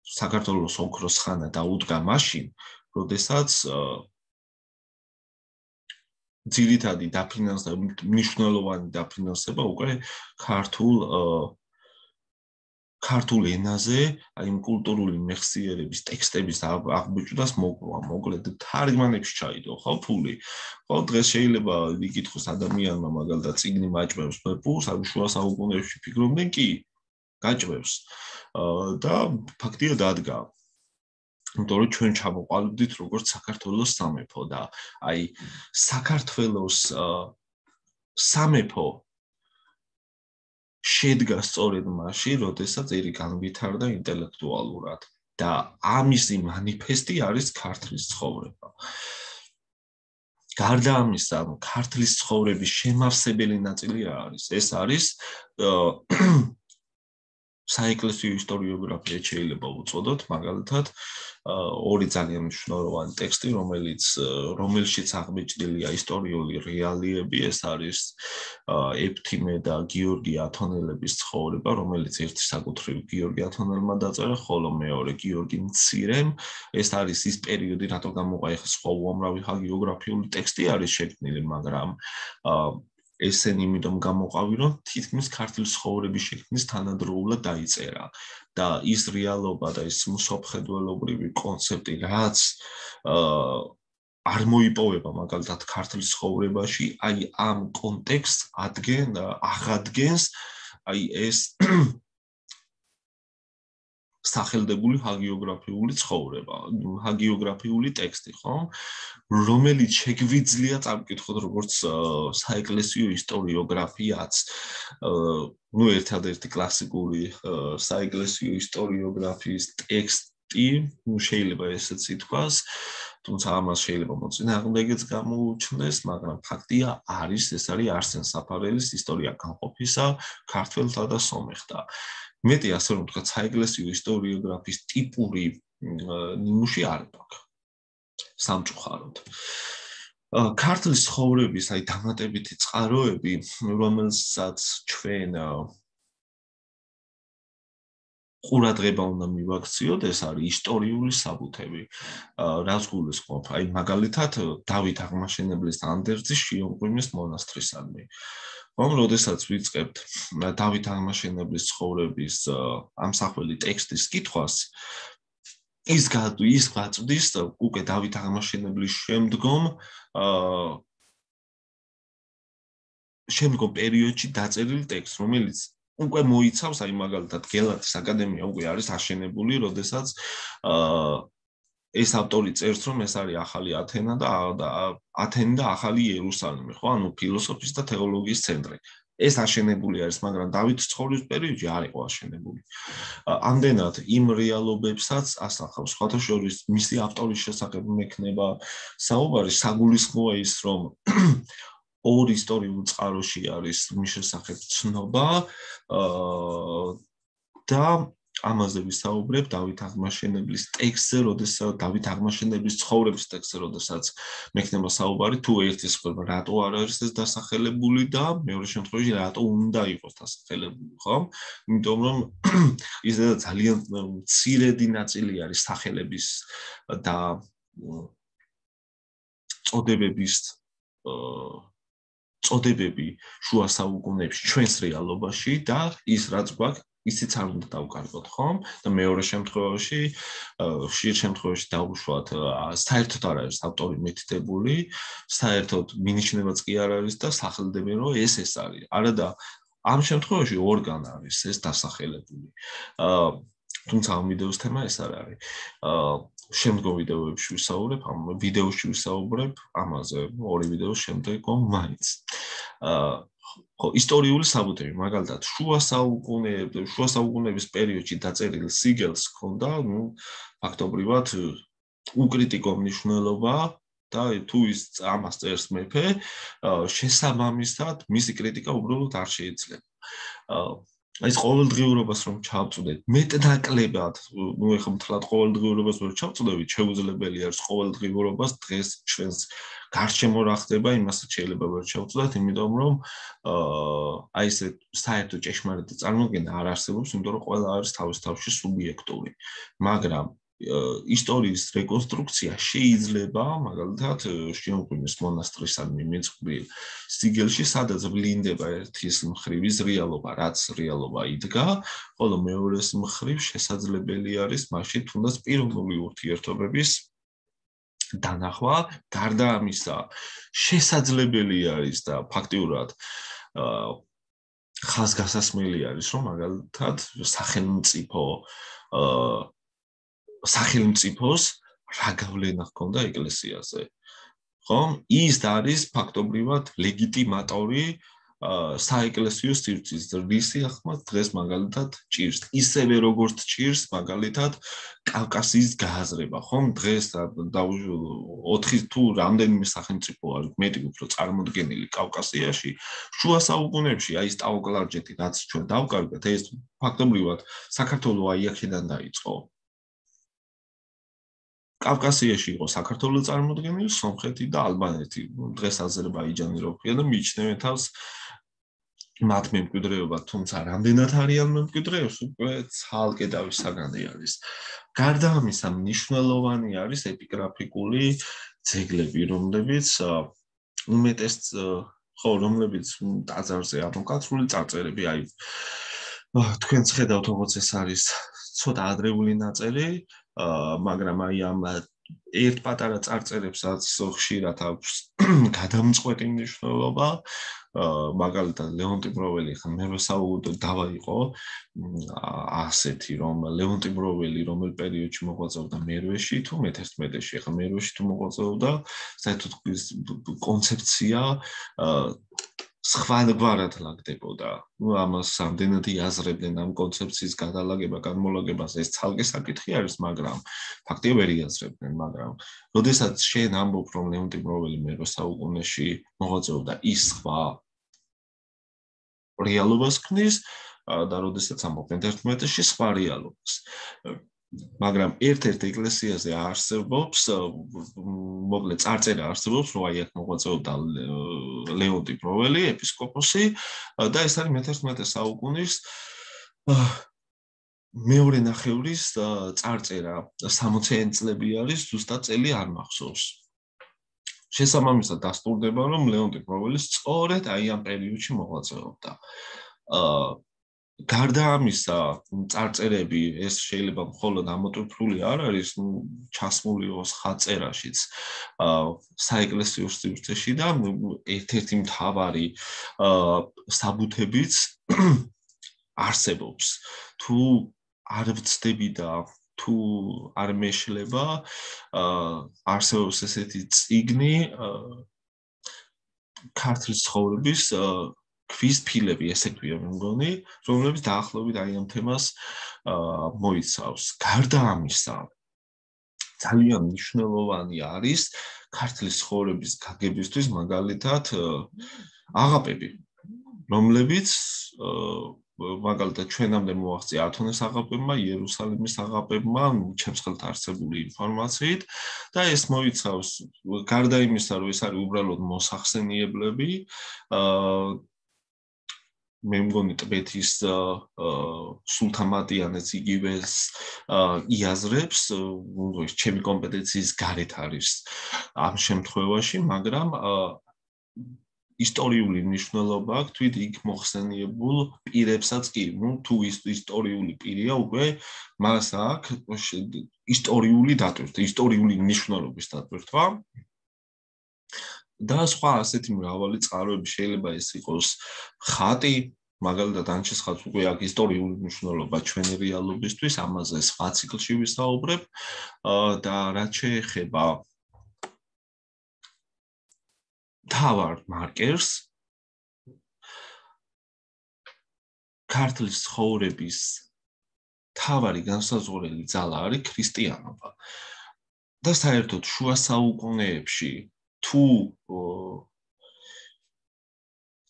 საქართველოს ოქროს ხანა დაუდგა მაშინ, როდესაც ძირითადი მნიშვნელოვანი დაფინანსება უკვე ქართულ ენაზე, აი იმ კულტურული მეხსიერების ტექსტების აღბეჭდას მოკლა, მოკლედ თარგმანებში ჩაიდო, ხო, ფული. ხო, დღეს შეიძლება იკითხოს ადამიანმა მაგალითად წიგნი მაჭმევს ფულს, ანუ შუა საუკუნეებში ფიქრობდნენ, კი, გაჭმევს. და ფაქტია დადგა. იმიტომ რომ ჩვენ ჩამოყალიბდით როგორც საქართველოს სამეფო და აი საქართველოს სამეფო შედგა სწორედ მაშინ, როდესაც ერი განვითარდა ინტელექტუალურად და ამისი მანიფესტი არის ქართლის ცხოვრება. გარდა ამისა, ქართლის ცხოვრების შემავსებელი ნაწილი რა არის? ეს არის საეკლესიო ისტორიოგრაფია შეიძლება უწოდოთ, მაგალითად, ორი ძალიან მნიშვნელოვანი ტექსტი, რომელშიც აღბეჭდილია ისტორიული რეალიები, ეს არის ეფთიმე და გიორგი ათონელების ცხოვრება, რომელიც ერთი საკუთრივ გიორგი ათონელმა დაწერა, ხოლო მეორე გიორგი მცირემ. ეს არის ის პერიოდი, რატო გამოყაიხა სხვა უამრავი ჰაგიოგრაფიული ტექსტი არის შექმნილი, მაგრამ ესენი იმიტომ გამოყავი, რომ თითქმის ქართლის ცხოვრების შექმნის თანადროულად დაიწერა და ის რეალობა და ის მსოფლმხედველობრივი კონცეფტი, რაც არ მოიპოვება მაგალითად ქართლის ცხოვრებაში, აი ამ კონტექსტს აღადგენს აი ეს სახელდებული ჰაგიოგრაფიული ცხოვრება, ჰაგიოგრაფიული ტექსტი, ხო? რომელიც შეგვიძლია წამკითხოთ როგორც საეკლესიო ისტორიოგრაფიაც. ერთადერთი კლასიკური საეკლესიო ისტორიოგრაფიის ტექსტი, შეიძლება ესეც ითქვას, თუმცა ამას შეიძლება მოწინააღმდეგეც გამოუჩნდეს, მაგრამ ფაქტია არის, ეს არის არსენ საფარელის ისტორია განყოფისა ქართველთა და სომეხთა. მეტი ასე რომ ვთქვათ, საეკლესიო ისტორიოგრაფიის ტიპური ნიმუში არ აქვს. სამწუხაროდ. ქართლის ცხოვრების, აი დამატებითი წყაროები, რომელსაც ჩვენ ყურადღება უნდა მივაქციოთ, ეს არის ისტორიული საბუთები. რაც გულისხმობ, აი მაგალითად დავით აღმაშენებლის ანდერძის შიომღვიმის მონასტრისადმი. როდესაც ვიწყებთ დავით აღმაშენებლის ცხოვრების ამსახველი ტექსტის კითხვას, ის გაწვდის უკვე დავით აღმაშენებლის შემდგომ პერიოდში დაწერილ ტექსტს, რომელიც უკვე მოიცავს, აი მაგალითად გელათის აკადემია უკვე არის აშენებული, როდესაც ეს ავტორი წერს, რომ ეს არის ახალი ათენა და ახალი იერუსალიმი, ხო? ანუ ფილოსოფიის და თეოლოგიის ცენტრი. ეს აშენებული არის, მაგრამ დავითის ცხოვრების პერიოდში არ იყო აშენებული. ამდენად იმ რეალობებსაც ასახავს, სხვათა შორის მისი ავტორის შესახებ მექნება საუბარი, საგულისხმოა ის, რომ ორ ისტორიულ წყაროში არის მის შესახებ ცნობა და ამაზე ვისაუბრებ დავით აღმაშენებლის ტექსტზე, როდესაც დავით აღმაშენებლის ცხოვრების ტექსტზე, როდესაც მექნება საუბარი, თუ ერთის ხდება, რატო არ არის ეს დასახელებული და მეორე შემთხვევაში რატო უნდა იყოს დასახელებული, ხო? იმიტომ რომ ის ძალიან მცირედი ნაწილი არის სახელების და წოდებები შუა საუკუნეებში ჩვენს რეალობაში და ის რაც გვაქვს ისიც არ უნდა დავკარგოთ, ხომ? და მეორე შემთხვევაში, ხშირ შემთხვევაში დავუშვათ, საერთოდ არ არის ავტორი მითითებული, საერთოდ მინიშნებაც კი არ არის და სახელდებენ რომ ეს არის. არადა ამ შემთხვევაში ორგან არის ეს დასახელებული. თუმცა ამ ვიდეოს თემა ეს არ არის. შემდგომ ვიდეოებში ვისაუბრებ, ამ ვიდეოში ვისაუბრებ ამაზე, ორი ვიდეოს შემდეგ მაინც. ხო, ისტორიული საბუთები, მაგალითად, შუა საუკუნეების პერიოდში დაწერილ სიგელს ჰქონდა, ფაქტობრივად უკრიტიკო მნიშვნელობა და თუ ის ამას წერს მეფე, შესაბამისად, მისი კრიტიკა უბრალოდ არ შეიძლება. ეს ყოველდღიურობას რომ ჩავწვდეთ, მეტნაკლებად, ეხლა მთლად ყოველდღიურობას ვერ ჩავწვდებით, შეუძლებელი არის ყოველდღიურობას დღეს ჩვენს გარშემო რა ხდება, იმასაც შეიძლება ვერ ჩავწვდეთ, იმიტომ რომ აი ესე საერთო ჭეშმარიტი წარმოდგენა არ არსებობს, იმიტომ რომ ყველა არის თავის თავში სუბიექტური. მაგრამ ისტორიის რეკონსტრუქცია შეიძლება, მაგალითად, შიომღვიმის მონასტრისადმი მიწყვილ სიგელში, სადაც ვლინდება ერთის მხრივ ის რეალობა, რაც რეალობა იდგა, ხოლო მეორეს მხრივ შესაძლებელი არის მაშინ თუნდაც პიროვნული ურთიერთობების დანახვა, გარდა ამისა, შესაძლებელი არის და ფაქტიურად ხაზგასასმელი არის, რომ მაგალითად სახელმწიფოს რა გავლენა ჰქონდა ეკლესიაზე. ხო? ის არის ფაქტობრივად ლეგიტიმატორი საეკლესიო სივრცის რისი ახმად დღეს მაგალითად ჭირს. ისევე როგორც ჭირს მაგალითად კავკასიის გააზრება, ხომ? დღეს 4 თუ რამდენიმე სახელმწიფო არის მეტი უფრო წარმოდგენილი კავკასიაში, შუა საუკუნეებში აი ეს ტაო-კლარჯეთი, რაც ჩვენ დავკარგეთ, ეს ფაქტობრივად საქართველოს აი აქედან დაიწყო. კავკასიაში იყო საქართველოს წარმოდგენილი, სომხეთი და ალბანეთი. დღეს აზერბაიჯანი რო ქვია და მიიჩნევენ თავს მათ მემკვიდრეობა, თუმცა რამდენად არიან მემკვიდრეებს, უკვე ცალკე დავის საგანი არის. გარდა ამისა, მნიშვნელოვანი არის ეპიგრაფიკული ძეგლები, რომლებიც რომლებიც ტაძარზე ამოკაცრული წარწერები, აი თქვენც ხედავთ, როგორც ეს არის ცოტა ადრეული ნაწერი, მაგრამ აი ამ ერთ პატარა წარწერებსაც ხშირად აქვს გადამწყვეტი მნიშვნელობა. მაგალითად, ლეონტი მროველი ხა მერვე საუკუნეში დავა იყო ასეთი, რომ ლეონტი მროველი რომელ პერიოდში მოღვაწეობდა მერვეში თუ მე-11-ში, ხა მერვეში თუ მოღვაწეობდა, საერთოდ კონცეფცია სხვაგვარად ლაგდებოდა. ამას ამდენად იაზრებდნენ ამ კონცეფციის გადალაგება, განმოლაგებას, ეს ცალკე საკითხი არის, მაგრამ ფაქტია ვერ იაზრებდნენ, მაგრამ როდესაც შენ ამბობ, რომ ლეონტი მროველი მერვე საუკუნეში მოღვაწეობდა, ის სხვა რეალობას ქმნის, და როდესაც ამბობენ 11-ში სხვა რეალობას. მაგრამ ერთ-ერთ ეკლესიაზე არსებობს, მოკლედ წარწერა არსებობს, რომ აი აქ მოღვაწეობდა ლეონტი პროველი, ეპისკოპოსი და ეს არის მე-11 საუკუნის მეორე ნახევრის წარწერა, 60-იანი წლები არის, ზუსტად წელი არ მახსოვს. შესაბამისად დასტურდება, რომ ლეონტი პროველი სწორედ აი ამ პერიოდში მოღვაწეობდა. გარდა ამისა, წარწერები ეს შეიძლება მხოლოდ ამოტვიფრული არ არის, ჩასმული იყოს ხატწერაშიც საეკლესიო სივრცეში და ერთ-ერთი მთავარი საბუთებიც არსებობს. თუ არ ვცდები და თუ არ მეშლება, არსებობს ესეთი წიგნი ქართლის ცხოვრების ქვის ფილები, ესე ქვია მე მგონი, რომლებიც დაახლოებით აი ამ თემას მოიცავს. გარდა ამისა, ძალიან მნიშვნელოვანი არის ქართლის ცხოვრების გაგებისთვის მაგალითად აღაპები, რომლებიც მაგალითად ჩვენამდე მოაღწია ათონის აღაპებმა, იერუსალიმის აღაპებმა, ჩემს ხელთ არსებული ინფორმაციით და ეს მოიცავს გარდა იმისა, რომ ეს არის უბრალოდ მოსახსენიებლები, მე მგონი ტბეთის სულთამატიანეც იგივეს იაზრებს, ჩემი კომპეტენციის გარეთ არის ამ შემთხვევაში, მაგრამ ისტორიული მნიშვნელობა აქვს თვით იქ მოხსენიებულ პირებსაც კი, თუ ისტორიული პირია, უკვე მას აქვს ისტორიული დატვირთვა, ისტორიული მნიშვნელობის დატვირთვა და სხვა ასეთი მრავალი წყაროები შეიძლება ეს იყოს ხატი, მაგალითად ანჩის ხატს უკვე აქვს ისტორიული მნიშვნელობა ჩვენი რეალობისთვის, ამაზე სხვა ციკლში ვისაუბრებ და რაც შეეხება თავარ მარკერს ქართლის ცხოვრების თავარი განსაზღვრელი ძალა არის ქრისტიანობა და საერთოდ შუა საუკუნეებში თუ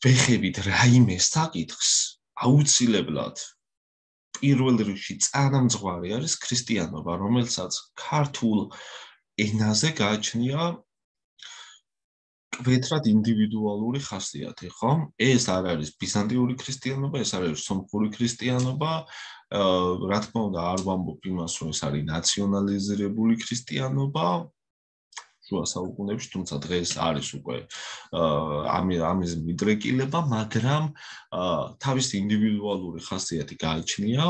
ვეხებით რაიმე საკითხს აუცილებლად პირველ რიგში წარმამძღვარი არის ქრისტიანობა, რომელსაც ქართულ ენაზე გააჩნია კვეთრად ინდივიდუალური ხასიათი, ხო? ეს არ არის ბიზანტიური ქრისტიანობა, ეს არის სომხური ქრისტიანობა, რა თქმა უნდა, არ ვამბობ იმას, რომ ეს არის ნაციონალიზირებული ქრისტიანობა, შუა საუკუნეებში, თუმცა დღეს არის უკვე ამის მიდრეკილება, მაგრამ თავისი ინდივიდუალური ხასიათი გააჩნია,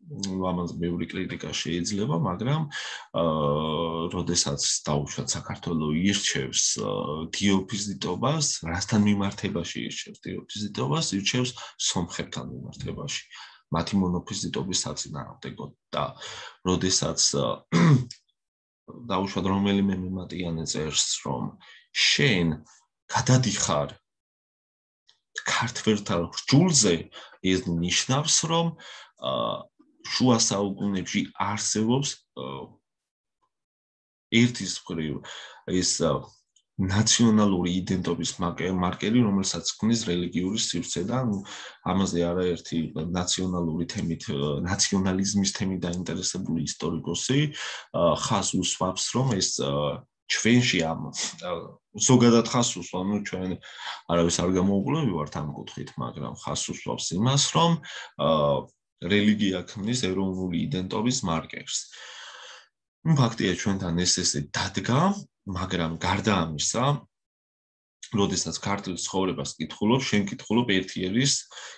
ამაზე ბევრი კრიტიკა შეიძლება, მაგრამ როდესაც დაუშვათ საქართველოს ირჩევს დიოფიზიტობას, რასთან მიმართებაში ირჩევს დიოფიზიტობას, ირჩევს სომხებთან მიმართებაში. მათი მონოფიზიტობის საწინააღმდეგოდ და როდესაც დაუშვათ რომელიმე მიმატიანე წერს, რომ შენ გადადიხარ ქართველთა რჯულზე, ეს ნიშნავს, რომ შუა საუკუნეებში არსებობს ერთის მხრივ ეს ნაციონალური იდენტობის მარკერი, რომელსაც ქმნის რელიგიური სივრცე და ამაზე არაერთი ნაციონალური თემით, ნაციონალიზმის თემით დაინტერესებული ისტორიკოსი ხაზს უსვამს, რომ ეს ჩვენში ამ ზოგადად ხაზს უსვამს, ჩვენ არავის არ გამოუყურებივართ ამ კუთხით, მაგრამ ხაზს უსვამს იმას, რომ რელიგია ქმნის ეროვნული იდენტობის მარკერს. ფაქტია ჩვენთან ესე დადგა, მაგრამ გარდა ამისა, როდესაც ქართლის ცხოვრებას კითხულობ, შენ კითხულობ ერთიერის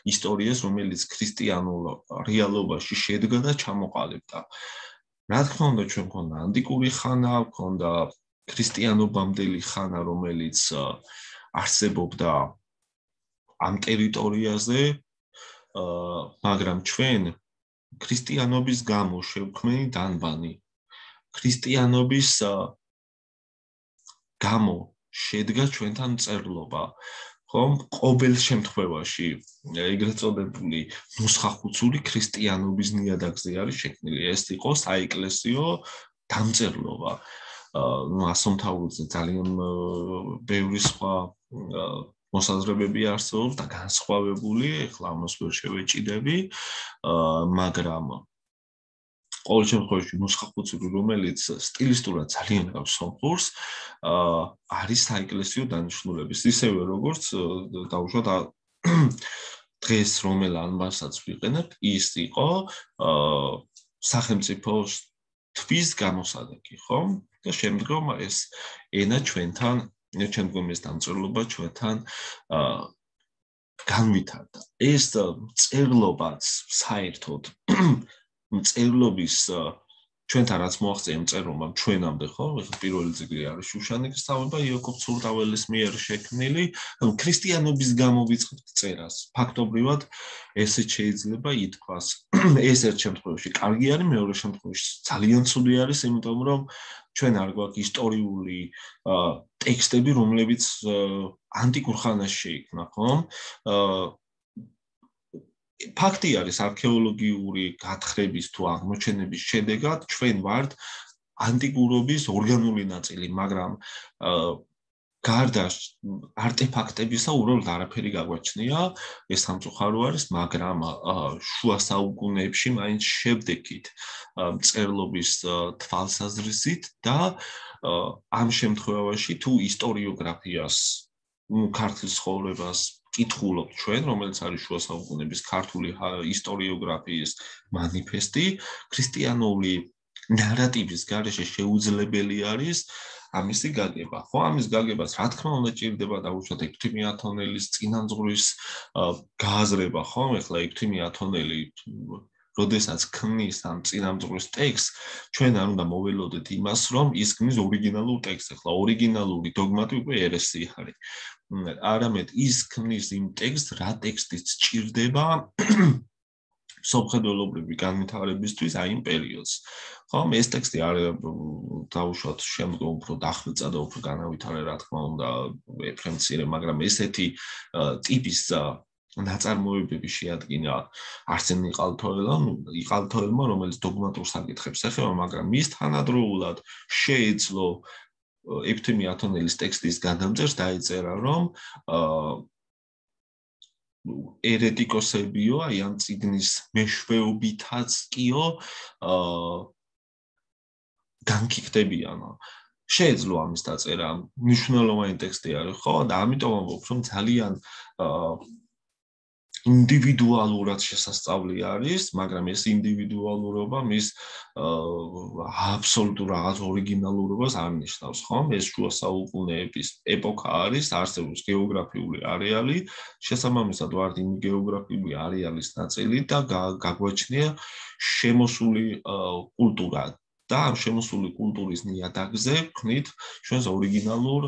ისტორიას, რომელიც ქრისტიანულ რეალობაში შედგა და ჩამოყალიბდა. რა თქმა უნდა, ჩვენ მქონდა ანტიკური ხანა, მქონდა ქრისტიანობამდელი ხანა, რომელიც არსებობდა ამ ტერიტორიაზე, მაგრამ ჩვენ ქრისტიანობის გამო შევქმნით დანბანი. ქრისტიანობის გამო შედგა ჩვენთან მწერლობა, ხომ? ყოველ შემთხვევაში ეგრეთ წოდებული ნუსხახუცული ქრისტიანობის ნიადაგზე არის შექმნილი. ეს იყო საეკლესიო დამწერლობა. ასომთავრულზე ძალიან ბევრი სხვა მოსაზრებები არსებობს და განსხვავებული, ეხლა ამას ვერ შევეჭიდები, მაგრამ ყოველ შემთხვევაში ნუსხახუცური, რომელიც სტილისტურად ძალიან გავს სომხურს, არის საეკლესიო დანიშნულების, ისევე როგორც დაუშვათ დღეს რომელ ანბანსაც ვიყენებთ, ის იყო სახელმწიფოს თვის გამოსადეგი, ხო? და შემდგომ ეს ენა ჩვენთან, შემდგომ ეს დამწერლობა ჩვენთან განვითარდა. ეს წერლობაც საერთოდ წერლობის ჩვენთან რაც მოაღწია წერლობამ ჩვენამდე, ხო? პირველი წიგნი არის შუშანიკის თავება იაკობ ცურტაველის მიერ შექმნილი, ქრისტიანობის გამო ვიწყებთ წერას. ფაქტობრივად ესეც შეიძლება ითქვას. ეს ერთ შემთხვევაში კარგი არის, მეორე შემთხვევაში ძალიან ცუდი არის, იმიტომ რომ ჩვენ არ გვაქვს ისტორიული ტექსტები, რომლებიც ანტიკურ ხანაში შეიქმნა, ხო? ფაქტი არის არქეოლოგიური გათხრების თუ აღმოჩენების შედეგად ჩვენ ვართ ანტიკურობის ორგანული ნაწილი, მაგრამ გარდა არტეფაქტებისა უბრალოდ არაფერი გაგვაჩნია, ეს სამწუხარო არის, მაგრამ შუა საუკუნეებში მაინც შევდექით მწერლობის თვალსაზრისით და ამ შემთხვევაში თუ ისტორიოგრაფიას, ქართლის ცხოვრებას კითხულობთ ჩვენ, რომელიც არის შუა საუკუნეების ქართული ისტორიოგრაფიის მანიფესტი, ქრისტიანული ნარატივის გარეშე შეუძლებელი არის ამისი გაგება. ხო, ამის გაგებას რა თქმა უნდა ჭირდება დაუშვათ ექვთიმე ათონელის წინამძღვრის გააზრება, ხო? ეხლა ექვთიმე ათონელი როდესაც ქმნის ამ წინამძღვრის ტექსტს, ჩვენ არ უნდა მოველოდეთ იმას, რომ ის ქმნის ორიგინალურ ტექსტს. ეხლა ორიგინალური დოგმატი უკვე ერესი არის. არამედ ის ქმნის იმ ტექსტს, რა ტექსტიც ჭირდება სამხედროებრივი განვითარებისთვის აი იმ პერიოდს. ხო, ეს ტექსტი არ დაუშვათ შემდგომ უფრო დახვეწა და უფრო განავითარა, რა თქმა უნდა, ეფრემ მცირე, მაგრამ ესეთი ტიპის ნაწარმოებები შეადგინა არსენ იყალთოელმა, რომელიც დოგმატურ საკითხებს ეხება, მაგრამ მის თანადროულად შეეძლო ექვთიმე ათონელის ტექსტის გადამწერს დაიწერა, რომ ერეტიკოსებიო, აი ამ წიგნის მეშვეობითაც კიო განკითხდებიანო. შეეძლო ამის დაწერა, მნიშვნელოვანი ტექსტი არის, ხო? და ამიტომ ამბობ, რომ ძალიან ინდივიდუალურად შესასწავლი არის, მაგრამ ეს ინდივიდუალურობა მის აბსოლუტურ რაღაც ორიგინალურობას არ ნიშნავს, ხო? ეს შუა საუკუნეების ეპოქა არის, არსებობს გეოგრაფიული არეალი, შესაბამისად ვართ იმ გეოგრაფიული არეალის ნაწილი და გაგვაჩნია შემოსული კულტურა და ამ შემოსული კულტურის ნიადაგზე ვქნით ჩვენს ორიგინალურ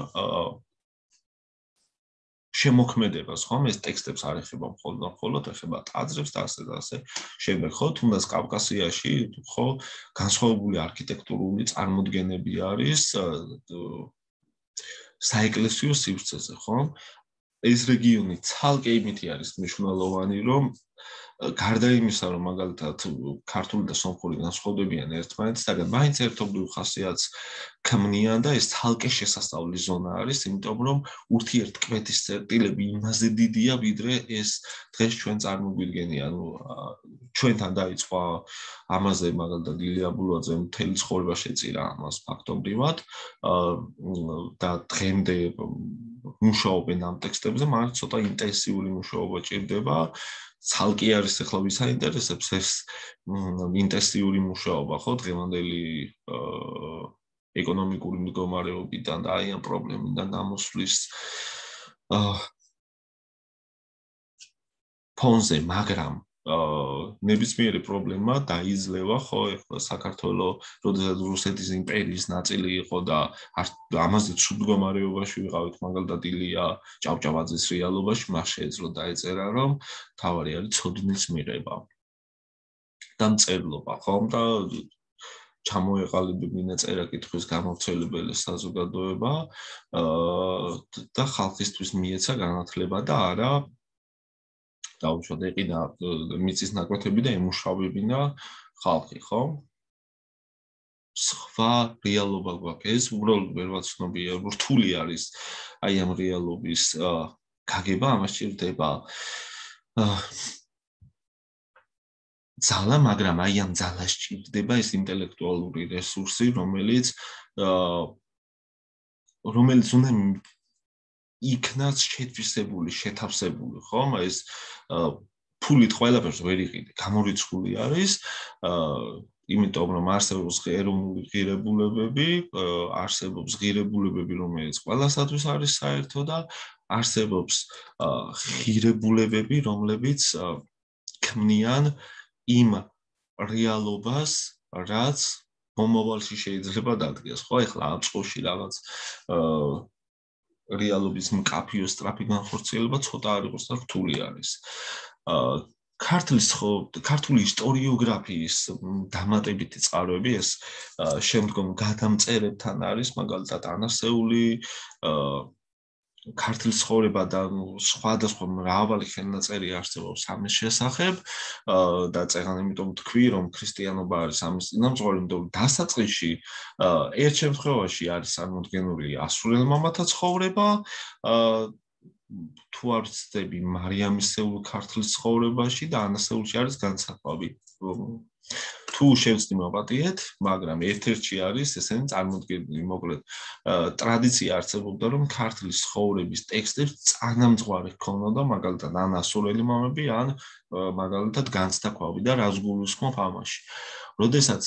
შემოქმედებას, ხო? ეს ტექსტებს არ ეხება მხოლოდ ეხება ტაძრებს და ასე და ასე შემდეგ, ხო? თუნდაც კავკასიაში, ხო, განსხვავებული არქიტექტურული წარმოდგენები არის საეკლესიო სივრცეზე, ხო? ეს რეგიონი ცალკე იმითი არის მნიშვნელოვანი, რომ გარდა იმისა, რომ მაგალითად ქართული და სომხური განსხვავდებიან ერთმანეთისგან, მაინც ერთობლივ ხასიათს ქმნიან და ეს ცალკე შესასწავლის ზონა არის, იმიტომ რომ ურთიერთქმედის წერტილები იმაზე დიდია, ვიდრე ეს დღეს ჩვენ წარმოგვიდგენია. ჩვენთან დაიწყო ამაზე მაგალითად ილია ბულაძე მთელი ცხოვრება შეწირა ამას ფაქტობრივად და დღემდე მუშაობენ ამ ტექსტებზე, მაგრამ ცოტა ინტენსიური მუშაობა ჭირდება. ცალკე არის ახლა ვისაინტერესებს ეს ინტენსიური მუშაობა, ხო, დღევანდელი ეკონომიკური მდგომარეობიდან და აი ამ პრობლემიდან გამოსვლის ფონზე, მაგრამ ნებისმიერი პრობლემა დაიძლევა, ხო, ეხლა საქართველოს, როდესაც რუსეთის იმპერიის ნაწილი იყო და ამაზე ცუდ მდგომარეობაში ვიყავით, მაგალითად ილია ჭავჭავაძის რეალობაში, მას შეეძლო დაეწერა, რომ თავარი არის ცოდნის მიღება და მწერლობა, ხო, და ჩამოეყალიბებინა წერა-კითხვის გამავრცელებელი საზოგადოება და ხალხისთვის მიეცა განათლება და არა დაუშვათ ეყიდა მიწის ნაკვეთები და ემუშავებინა ხალხი, ხო? სხვა რეალობა გვაქვს, ეს უბრალოდ ვერ ვაცნობია, რთული არის აი ამ რეალობის გაგება ამას ჭირდება ძალა, მაგრამ აი ამ ძალას ჭირდება ეს ინტელექტუალური რესურსი, რომელიც უნდა იქნას შეთვისებული, შეთავსებული, ხომ? ეს ფულით ყველაფერს ვერ იყიდე, გამორიცხული არის, იმიტომ რომ არსებობს ეროვნული ღირებულებები, არსებობს ღირებულებები, რომელიც ყველასათვის არის საერთო და არსებობს ღირებულებები, რომლებიც ქმნიან იმ რეალობას, რაც მომავალში შეიძლება დადგეს, ხო? ეხლა ამ წყოში რაღაც რეალობის მკაფიო სწრაფი განხორციელება ცოტა არ იყოს და რთული არის. ქართული ისტორიოგრაფიის დამატებითი წყაროები ეს შემდგომ გადამწერებთან არის, მაგალითად ანასეული, ქართლის ცხოვრება და სხვადასხვა მრავალი ხელნაწერი არსებობს ამის შესახებ და წეგან იმიტომ თქვი რომ ქრისტიანობა არის ამის წინამძღვარი, იმიტომ დასაწყისში ერთ შემთხვევაში არის წარმოდგენილი ასურელ მამათა ცხოვრება, თუ არ ვცდები მარიამისეულ ქართლის ცხოვრებაში და ანასეულში არის განსხვავება. თუ შევწდი მოვატიეთ, მაგრამ ერთ-ერთში არის ესენი წარმოდგენილი, მოკლედ ტრადიცია არსებობდა, რომ ქართლის ცხოვრების ტექსტებს წანამძღვარი ჰქონოდა, მაგალითად ან ასურელი მამები, ან მაგალითად განცდაქვავი და რას გულისხმობ ამაში. როდესაც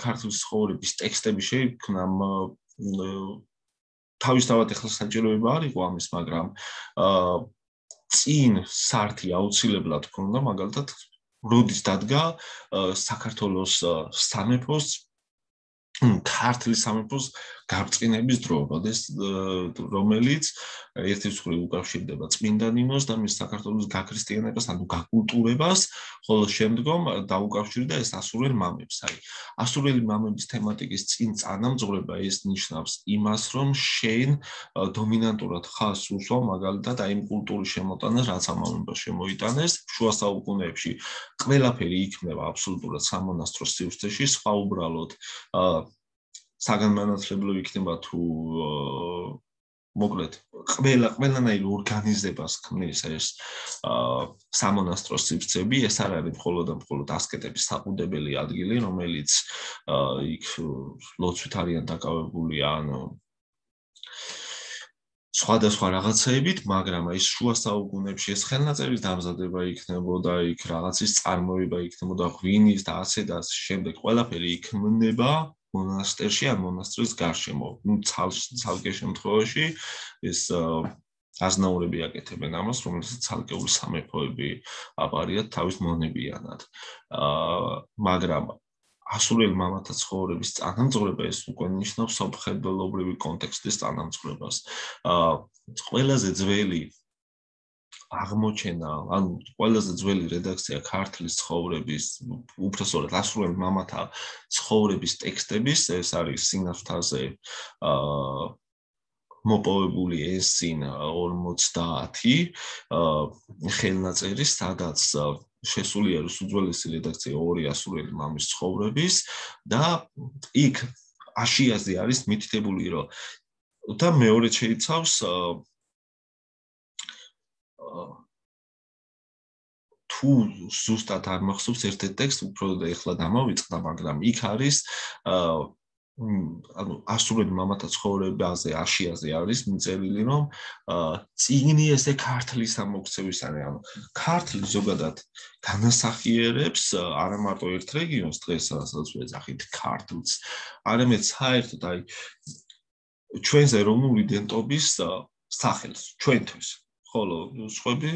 ქართლის ცხოვრების ტექსტები შეიქმნა, თავისთავად ახლა საჭიროება არ იყო ამის, მაგრამ წინ სართი აუცილებლად ჰქონდა, მაგალითად როდის დადგა საქართველოს სამეფოს ქართლის სამეფოს გაბრწყინების დრო, რომელიც ერთი მხრივ უკავშირდება წმინდა ნინოს და მის საქართველოს გაქრისტიანებას, ანუ გაკულტურებას, ხოლო შემდგომ დაუკავშირდა ეს ასურელ მამებს. აი, ასურელი მამების თემატიკის წინ წანამძღვრება ეს ნიშნავს იმას, რომ შენ დომინანტურად ხას უსვამ მაგალითად აი იმ კულტურის შემოტანას, რაც ამ მამებმა შემოიტანეს შუა საუკუნეებში. ყველაფერი იქნება აბსოლუტურად სამონასტრო სივრცეში, სხვა უბრალოდ საგანმანათლებლო იქნება თუ მოკლედ ყველანაირ ორგანიზებას ქმნის ეს სამონასტრო სივრცეები, ეს არ არის მხოლოდ ასკეტების საყუდებელი ადგილი, რომელიც იქ ლოცვით არიან დაკავებული ან სხვადასხვა რაღაცეებით, მაგრამ აი შუა საუკუნეებში ეს ხელნაწერის დამზადება იქნებოდა, იქ რაღაცის წარმოება იქნებოდა, ღვინის და ასე და შემდეგ ყველაფერი იქმნება მონასტერში ან მონასტრის გარშემო. ცალკე შემთხვევაში ეს აზნაურები აკეთებენ ამას, რომელსაც ცალკეული სამეფოები აპარიათ თავის მონებიანად. მაგრამ ასურელ მამათა ცხოვრების წანამძღვრება ეს უკვე ნიშნავს სამხედროებრივი კონტექსტის წანამძღვრებას. ყველაზე ძველი აღმოჩენა, ანუ ყველაზე ძველი რედაქცია ქართლის ცხოვრების, უბრალოდ ასურელ მამათა ცხოვრების ტექსტების, ეს არის სინათლაზე მოპოვებული S-ინ 50 ხელნაწერი, სადაც შესული არის უძველესი რედაქცია ორი ასურელი მამის ცხოვრების და იქ აშიაზე არის მითითებული, რომ და მეორე შეიცავს თუ ზუსტად არ მახსოვს ერთ-ერთ ტექსტს, უფრო და ეხლა დამავიწყდა, მაგრამ იქ არის ანუ ასურელი მამათა ცხოვრებაზე აშიაზე არის მიწერილი, რომ წიგნი ესე ქართლის ამოქცევის არის, ანუ ქართლი ზოგადად განასახიერებს არა მარტო ერთ რეგიონს დღეს, რასაც ვეძახით ქართლს, არამედ საერთოდ აი ჩვენს ეროვნული იდენტობის სახელს, ჩვენთვის. ხოლო სხვები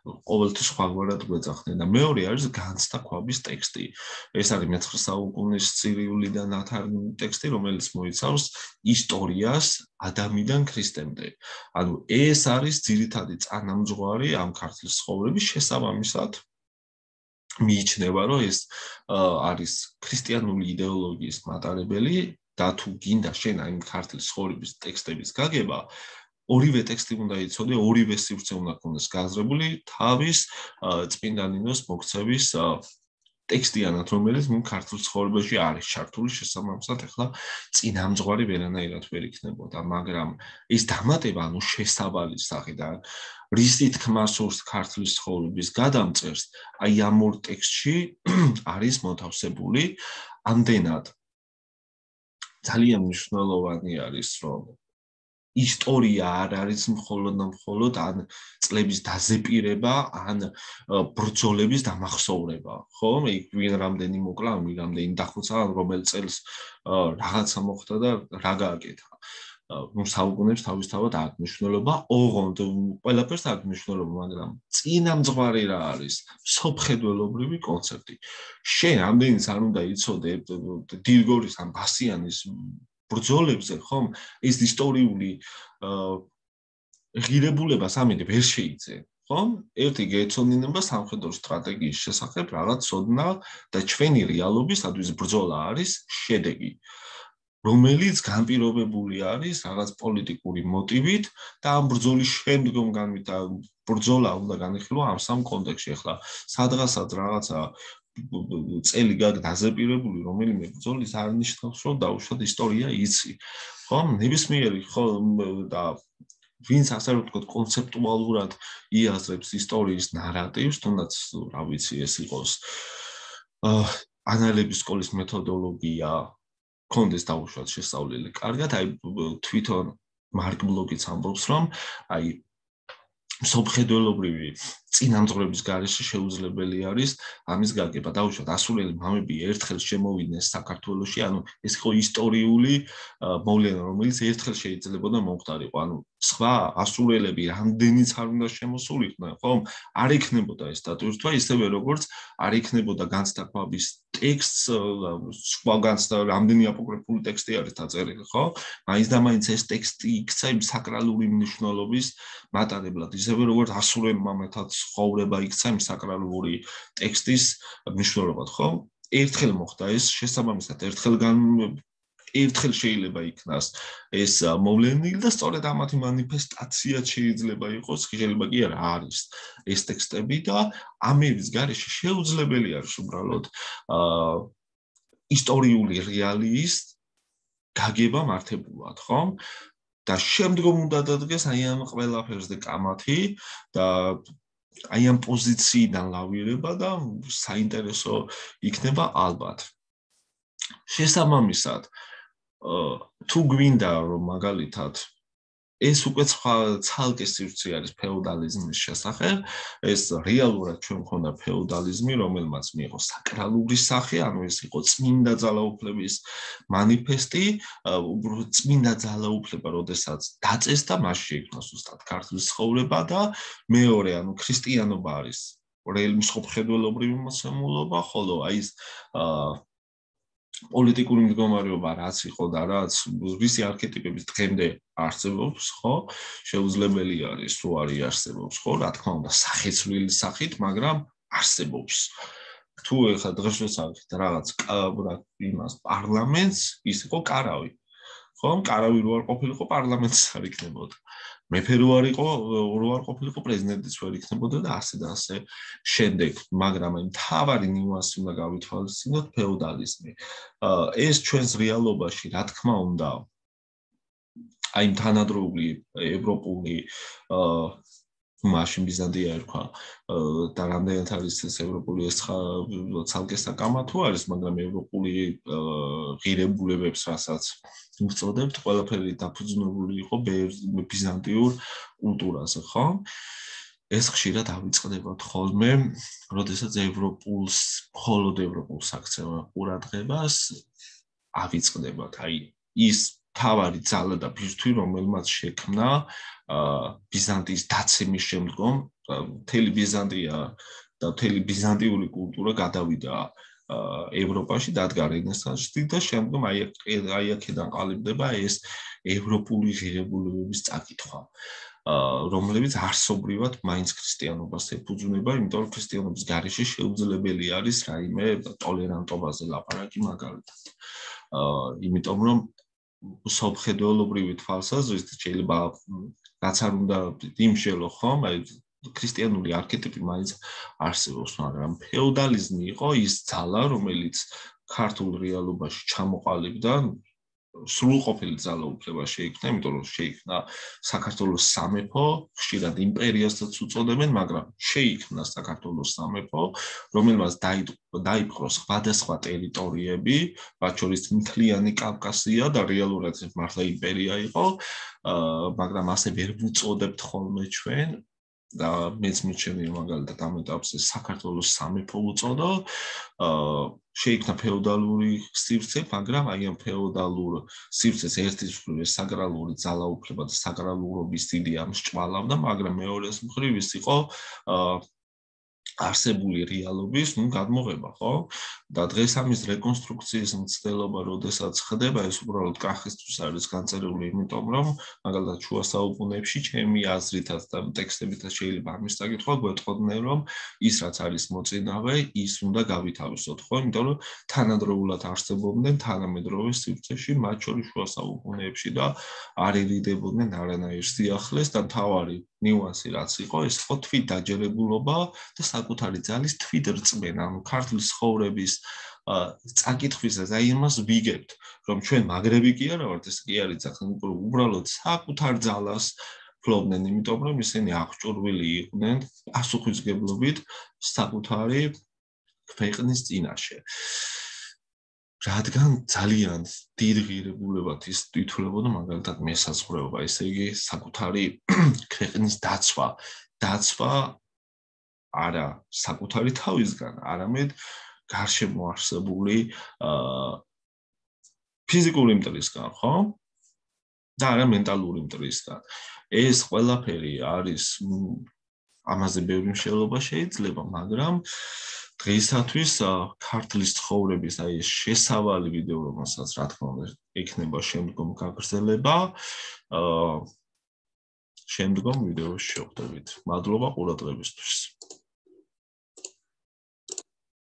ყოველთვის სხვაგვარად გვეძახდნენ და მეორე არის განცდაქვაბის ტექსტი. ეს არის მე-9 საუკუნის წირიულიდან ათარგმნილი ტექსტი, რომელიც მოიცავს ისტორიას ადამიდან ქრისტემდე. ანუ ეს არის ძირითადი წანამძღვარი ამ ქართლის ცხოვრების შესაბამისად. მიიჩნევა, რომ ეს არის ქრისტიანული იდეოლოგიის მატარებელი და თუ გინდა შენ აი ქართლის ცხოვრების ტექსტების გაგება, ორივე ტექსტი უნდა იცოდე, ორივე სივრცე უნდა ქონდეს გაზრებული თავის წმინდა ნინოს მოქცევის ტექსტიანად, რომელიც მულ ქართულ ცხოვრებაში არის ჩართული, შესაბამისად, ახლა წინამძღვარი ვერანაირად ვერ იქნებოდა, მაგრამ ეს დამატება, ანუ შესაბამის სახით და რის თქმა სურს ქართლის ცხოვრების გადამწერს, აი ამ ორ ტექსტში არის მოთავსებული ამდენად ძალიან მნიშვნელოვანი არის, რომ ისტორია არ არის მხოლოდ ან წლების დაზეპირება, ან ბრძოლების დამახსოვრება, ხო? იქ ვინ რამდენი მოკლა, ვინ რამდენი დახოცა, რომელ წელს რაღაცა მოხდა და რა გააკეთა. საუკუნეებს თავისთავად აქვს მნიშვნელობა, ოღონდ ყველაფერს აქვს მნიშვნელობა, მაგრამ წინამძღვარი რა არის? სოფხედველობრივი კონცეფტი. შენ ამდენიც არ უნდა იცოდე დილგორის ან ბასიანის ბრძოლებზე, ხომ? ეს ისტორიული ღირებულება სამი ვერ შეიძენ, ხომ? ერთი გეცოდინება სამხედრო სტრატეგიის შესახებ რაღაც ცოდნა და ჩვენი რეალობისათვის ბრძოლა არის შედეგი, რომელიც განპირობებული არის რაღაც პოლიტიკური მოტივით და ამ ბრძოლის შემდგომ ბრძოლა უნდა განიხილო ამ სამ კონტექსტში. ახლა სადღაცაც რაღაცა წელი დაზეპირებული რომელიმე ბრძოლის არ ნიშნავს, რომ დაუშვათ ისტორია იცი. ხო? ნებისმიერი ხო და ვინც ასე რომ ვთქვათ კონცეპტუალურად იაზრებს ისტორიის ნარატივს, თუნდაც რა ვიცი ეს იყოს ანალების სკოლის მეთოდოლოგია, კონდეს დაუშვათ შესწავლილი. კარგად, აი თვითონ მარკ ბლოკიც ამბობს, რომ აი სოფხედველობრივი წინამძღვრების გარეშე შეუძლებელი არის ამის გაგება. დაუშვათ ასურელი მამები ერთხელ შემოვიდნენ საქართველოში, ანუ ეს იყო ისტორიული მოვლენა, რომელიც ერთხელ შეიძლებოდა მომხდარიყო. ანუ სხვა ასურელები რამდენიც არ უნდა შემოსულიყვნენ, ხომ? არ იქნებოდა ეს დატვირთვა, ისევე როგორც არ იქნებოდა განცდა ქვაბის ტექსტს, სხვა განცდა რამდენი აპოკრიფული ტექსტი არის დაწერილი, ხო? მაინც და მაინც ეს ტექსტი იქცა იმ საკრალური მნიშვნელობის მატარებლად, ისევე როგორც ასურელ მამათა ცხოვრება იქცა იმ საკრალური ტექსტის მნიშვნელობად, ხო? ერთხელ მოხდა ეს, შესაბამისად, ერთხელ შეიძლება იქნას ეს მოვლენილი და სწორედ ამათი მანიფესტაციაც შეიძლება იყოს, შეიძლება კი არა არის ეს ტექსტები და ამების გარეშე შეუძლებელი არის უბრალოდ ისტორიული რეალიის გაგება მართებულად, ხო? და შემდგომ უნდა დადგეს აი ამ ყველაფერსზე კამათი და აი ამ პოზიციიდან ლავირება და საინტერესო იქნება ალბათ. შესაბამისად, თუ გვინდა რომ მაგალითად ეს უკვე ცალკე სივრცე არის ფეოდალიზმის შესახებ, ეს რეალურად ჩვენ მქონდა ფეოდალიზმი, რომელმაც მიიღო საკრალური სახე, ანუ ეს იყო წმინდა ძალაუფლების მანიფესტი, წმინდა ძალაუფლება, როდესაც დაწესდა, მას შეიქმნა ზუსტად ქართლის ცხოვრება და მეორე, ანუ ქრისტიანობა არის მსოფლმხედველობრივი მოცემულობა, ხოლო აი ეს პოლიტიკური მდგომარეობა რაც იყო და რაც ვისი არქეტიპების დღემდე არსებობს, ხო? შეუძლებელი არის, თუ არ იარსებობს, ხო? რა თქმა უნდა, სახეცვლილი სახით, მაგრამ არსებობს. თუ ეხლა დღეს ვსაუბრობთ რაღაც იმას პარლამენტს, ის იყო კარავი. ხო? კარავი რო არ ყოფილიყო, პარლამენტს არ იქნებოდა. მეფე რო არ ყოფილიყო, პრეზიდენტიც ვერ იქნებოდა და ასე და ასე შემდეგ, მაგრამ აი მთავარი ნიუანსი უნდა გავითვალისწინოთ ფეოდალიზმი. ეს ჩვენს რეალობაში, რა თქმა უნდა, აი თანადროული ევროპული მაშინ ბიზანტია ერქვა და რამდენად არის ეს ევროპული ეს ცალკე საკამა თუ არის, მაგრამ ევროპული ღირებულებებს რასაც უწოდებთ, ყველაფერი დაფუძნებული იყო ბიზანტიურ კულტურაზე, ხო? ეს ხშირად ავიწყდებათ ხოლმე, როდესაც მხოლოდ ევროპულს აქცევენ ყურადღებას, ავიწყდებათ. აი ის თავარი ძალა და ბირთვი, რომელმაც შექმნა ბიზანტიის დაცემის შემდგომ მთელი ბიზანტია და მთელი ბიზანტიური კულტურა გადავიდა ევროპაში, დადგა რენესანსში და შემდგომ აი აქედან ყალიბდება ეს ევროპული ღირებულებების წაკითხვა, რომლებიც არსობრივად მაინც ქრისტიანობას ეფუძნება, იმიტომ რომ ქრისტიანობის გარეშე შეუძლებელი არის რაიმე ტოლერანტობაზე ლაპარაკი მაგალითად. იმიტომ რომ სოფხედველობრივი თვალსაზრისით შეიძლება რაც არ უნდა იმშელო, ხომ? აი ქრისტიანული არქეტიპი მაინც არსებობს, მაგრამ ფეოდალიზმი იყო ის ძალა, რომელიც ქართულ რეალობაში ჩამოყალიბდა, სრულყოფილი ძალაუფლება შეიქმნა, იმიტომ რომ შეიქმნა საქართველოს სამეფო, ხშირად იმპერიასაც უწოდებენ, მაგრამ შეიქმნა საქართველოს სამეფო, რომელმაც დაიპყრო სხვადასხვა ტერიტორიები, მათ შორის მთლიანი კავკასია და რეალურად მართლა იმპერია იყო, მაგრამ ასე ვერ ვუწოდებთ ხოლმე ჩვენ და მეც მიჩვენე მაგალითად ამ ეტაპზე საქართველოს სამეფო უწოდო, შეიქმნა ფეოდალური სივრცე, მაგრამ აი ამ ფეოდალურ სივრცეს ერთის მხრივ საგრალური ძალაუფლება და საგრალურობის დიდი ამსჭვალავდა, მაგრამ მეორეს მხრივ ის იყო არსებული რეალობის, გადმოღება, ხო? და დღეს ამის რეკონსტრუქციის მცდელობა, როდესაც ხდება, ეს უბრალოდ კახისთვის არის განწერილი, იმიტომ რომ მაგალითად შუა საუკუნეებში ჩემი აზრითაც და ტექსტებითაც შეიძლება ამის საკითხვა გვეტყოდნენ, რომ ის რაც არის მოწინავე, ის უნდა გავითავისოთ, ხო? იმიტომ რომ თანადროულად არსებობდნენ თანამედროვე სივრცეში, მათ შორის შუა საუკუნეებში და არ ერიდებოდნენ არანაირ სიახლეს და მთავარი ნიუანსი რაც იყო, ეს იყო თვით დაჯერებულობა და საკუთარი ძალის თვით რწმენა, ანუ ქართლის ცხოვრების წაკითხვისას აი იმას ვიგებთ, რომ ჩვენ მაგრები კი არა ვართ, ეს კი არის უბრალოდ საკუთარ ძალას ფლობდნენ, იმიტომ რომ ისინი აღჭურვილი იყვნენ პასუხისმგებლობით საკუთარი ქვეყნის წინაშე. რადგან ძალიან დიდ ღირებულებად ის თვითლებოდა მაგალითად მესაზღვრეობა, ესე იგი საკუთარი ქვეყნის დაცვა არა საკუთარი თავისგან, არამედ გარშემო არსებული ფიზიკური მტრისგან, ხო? და არა მენტალური მტრისგან. ეს ყველაფერი არის ამაზე ბევრი მსჯელობა შეიძლება, მაგრამ დღეისათვის ქართლის ცხოვრების აი ეს შესავალი ვიდეო, რომელსაც რა თქმა უნდა იქნება შემდგომ გაგრძელება, შემდგომ ვიდეოში შევხვდებით. მადლობა ყურადღებისთვის.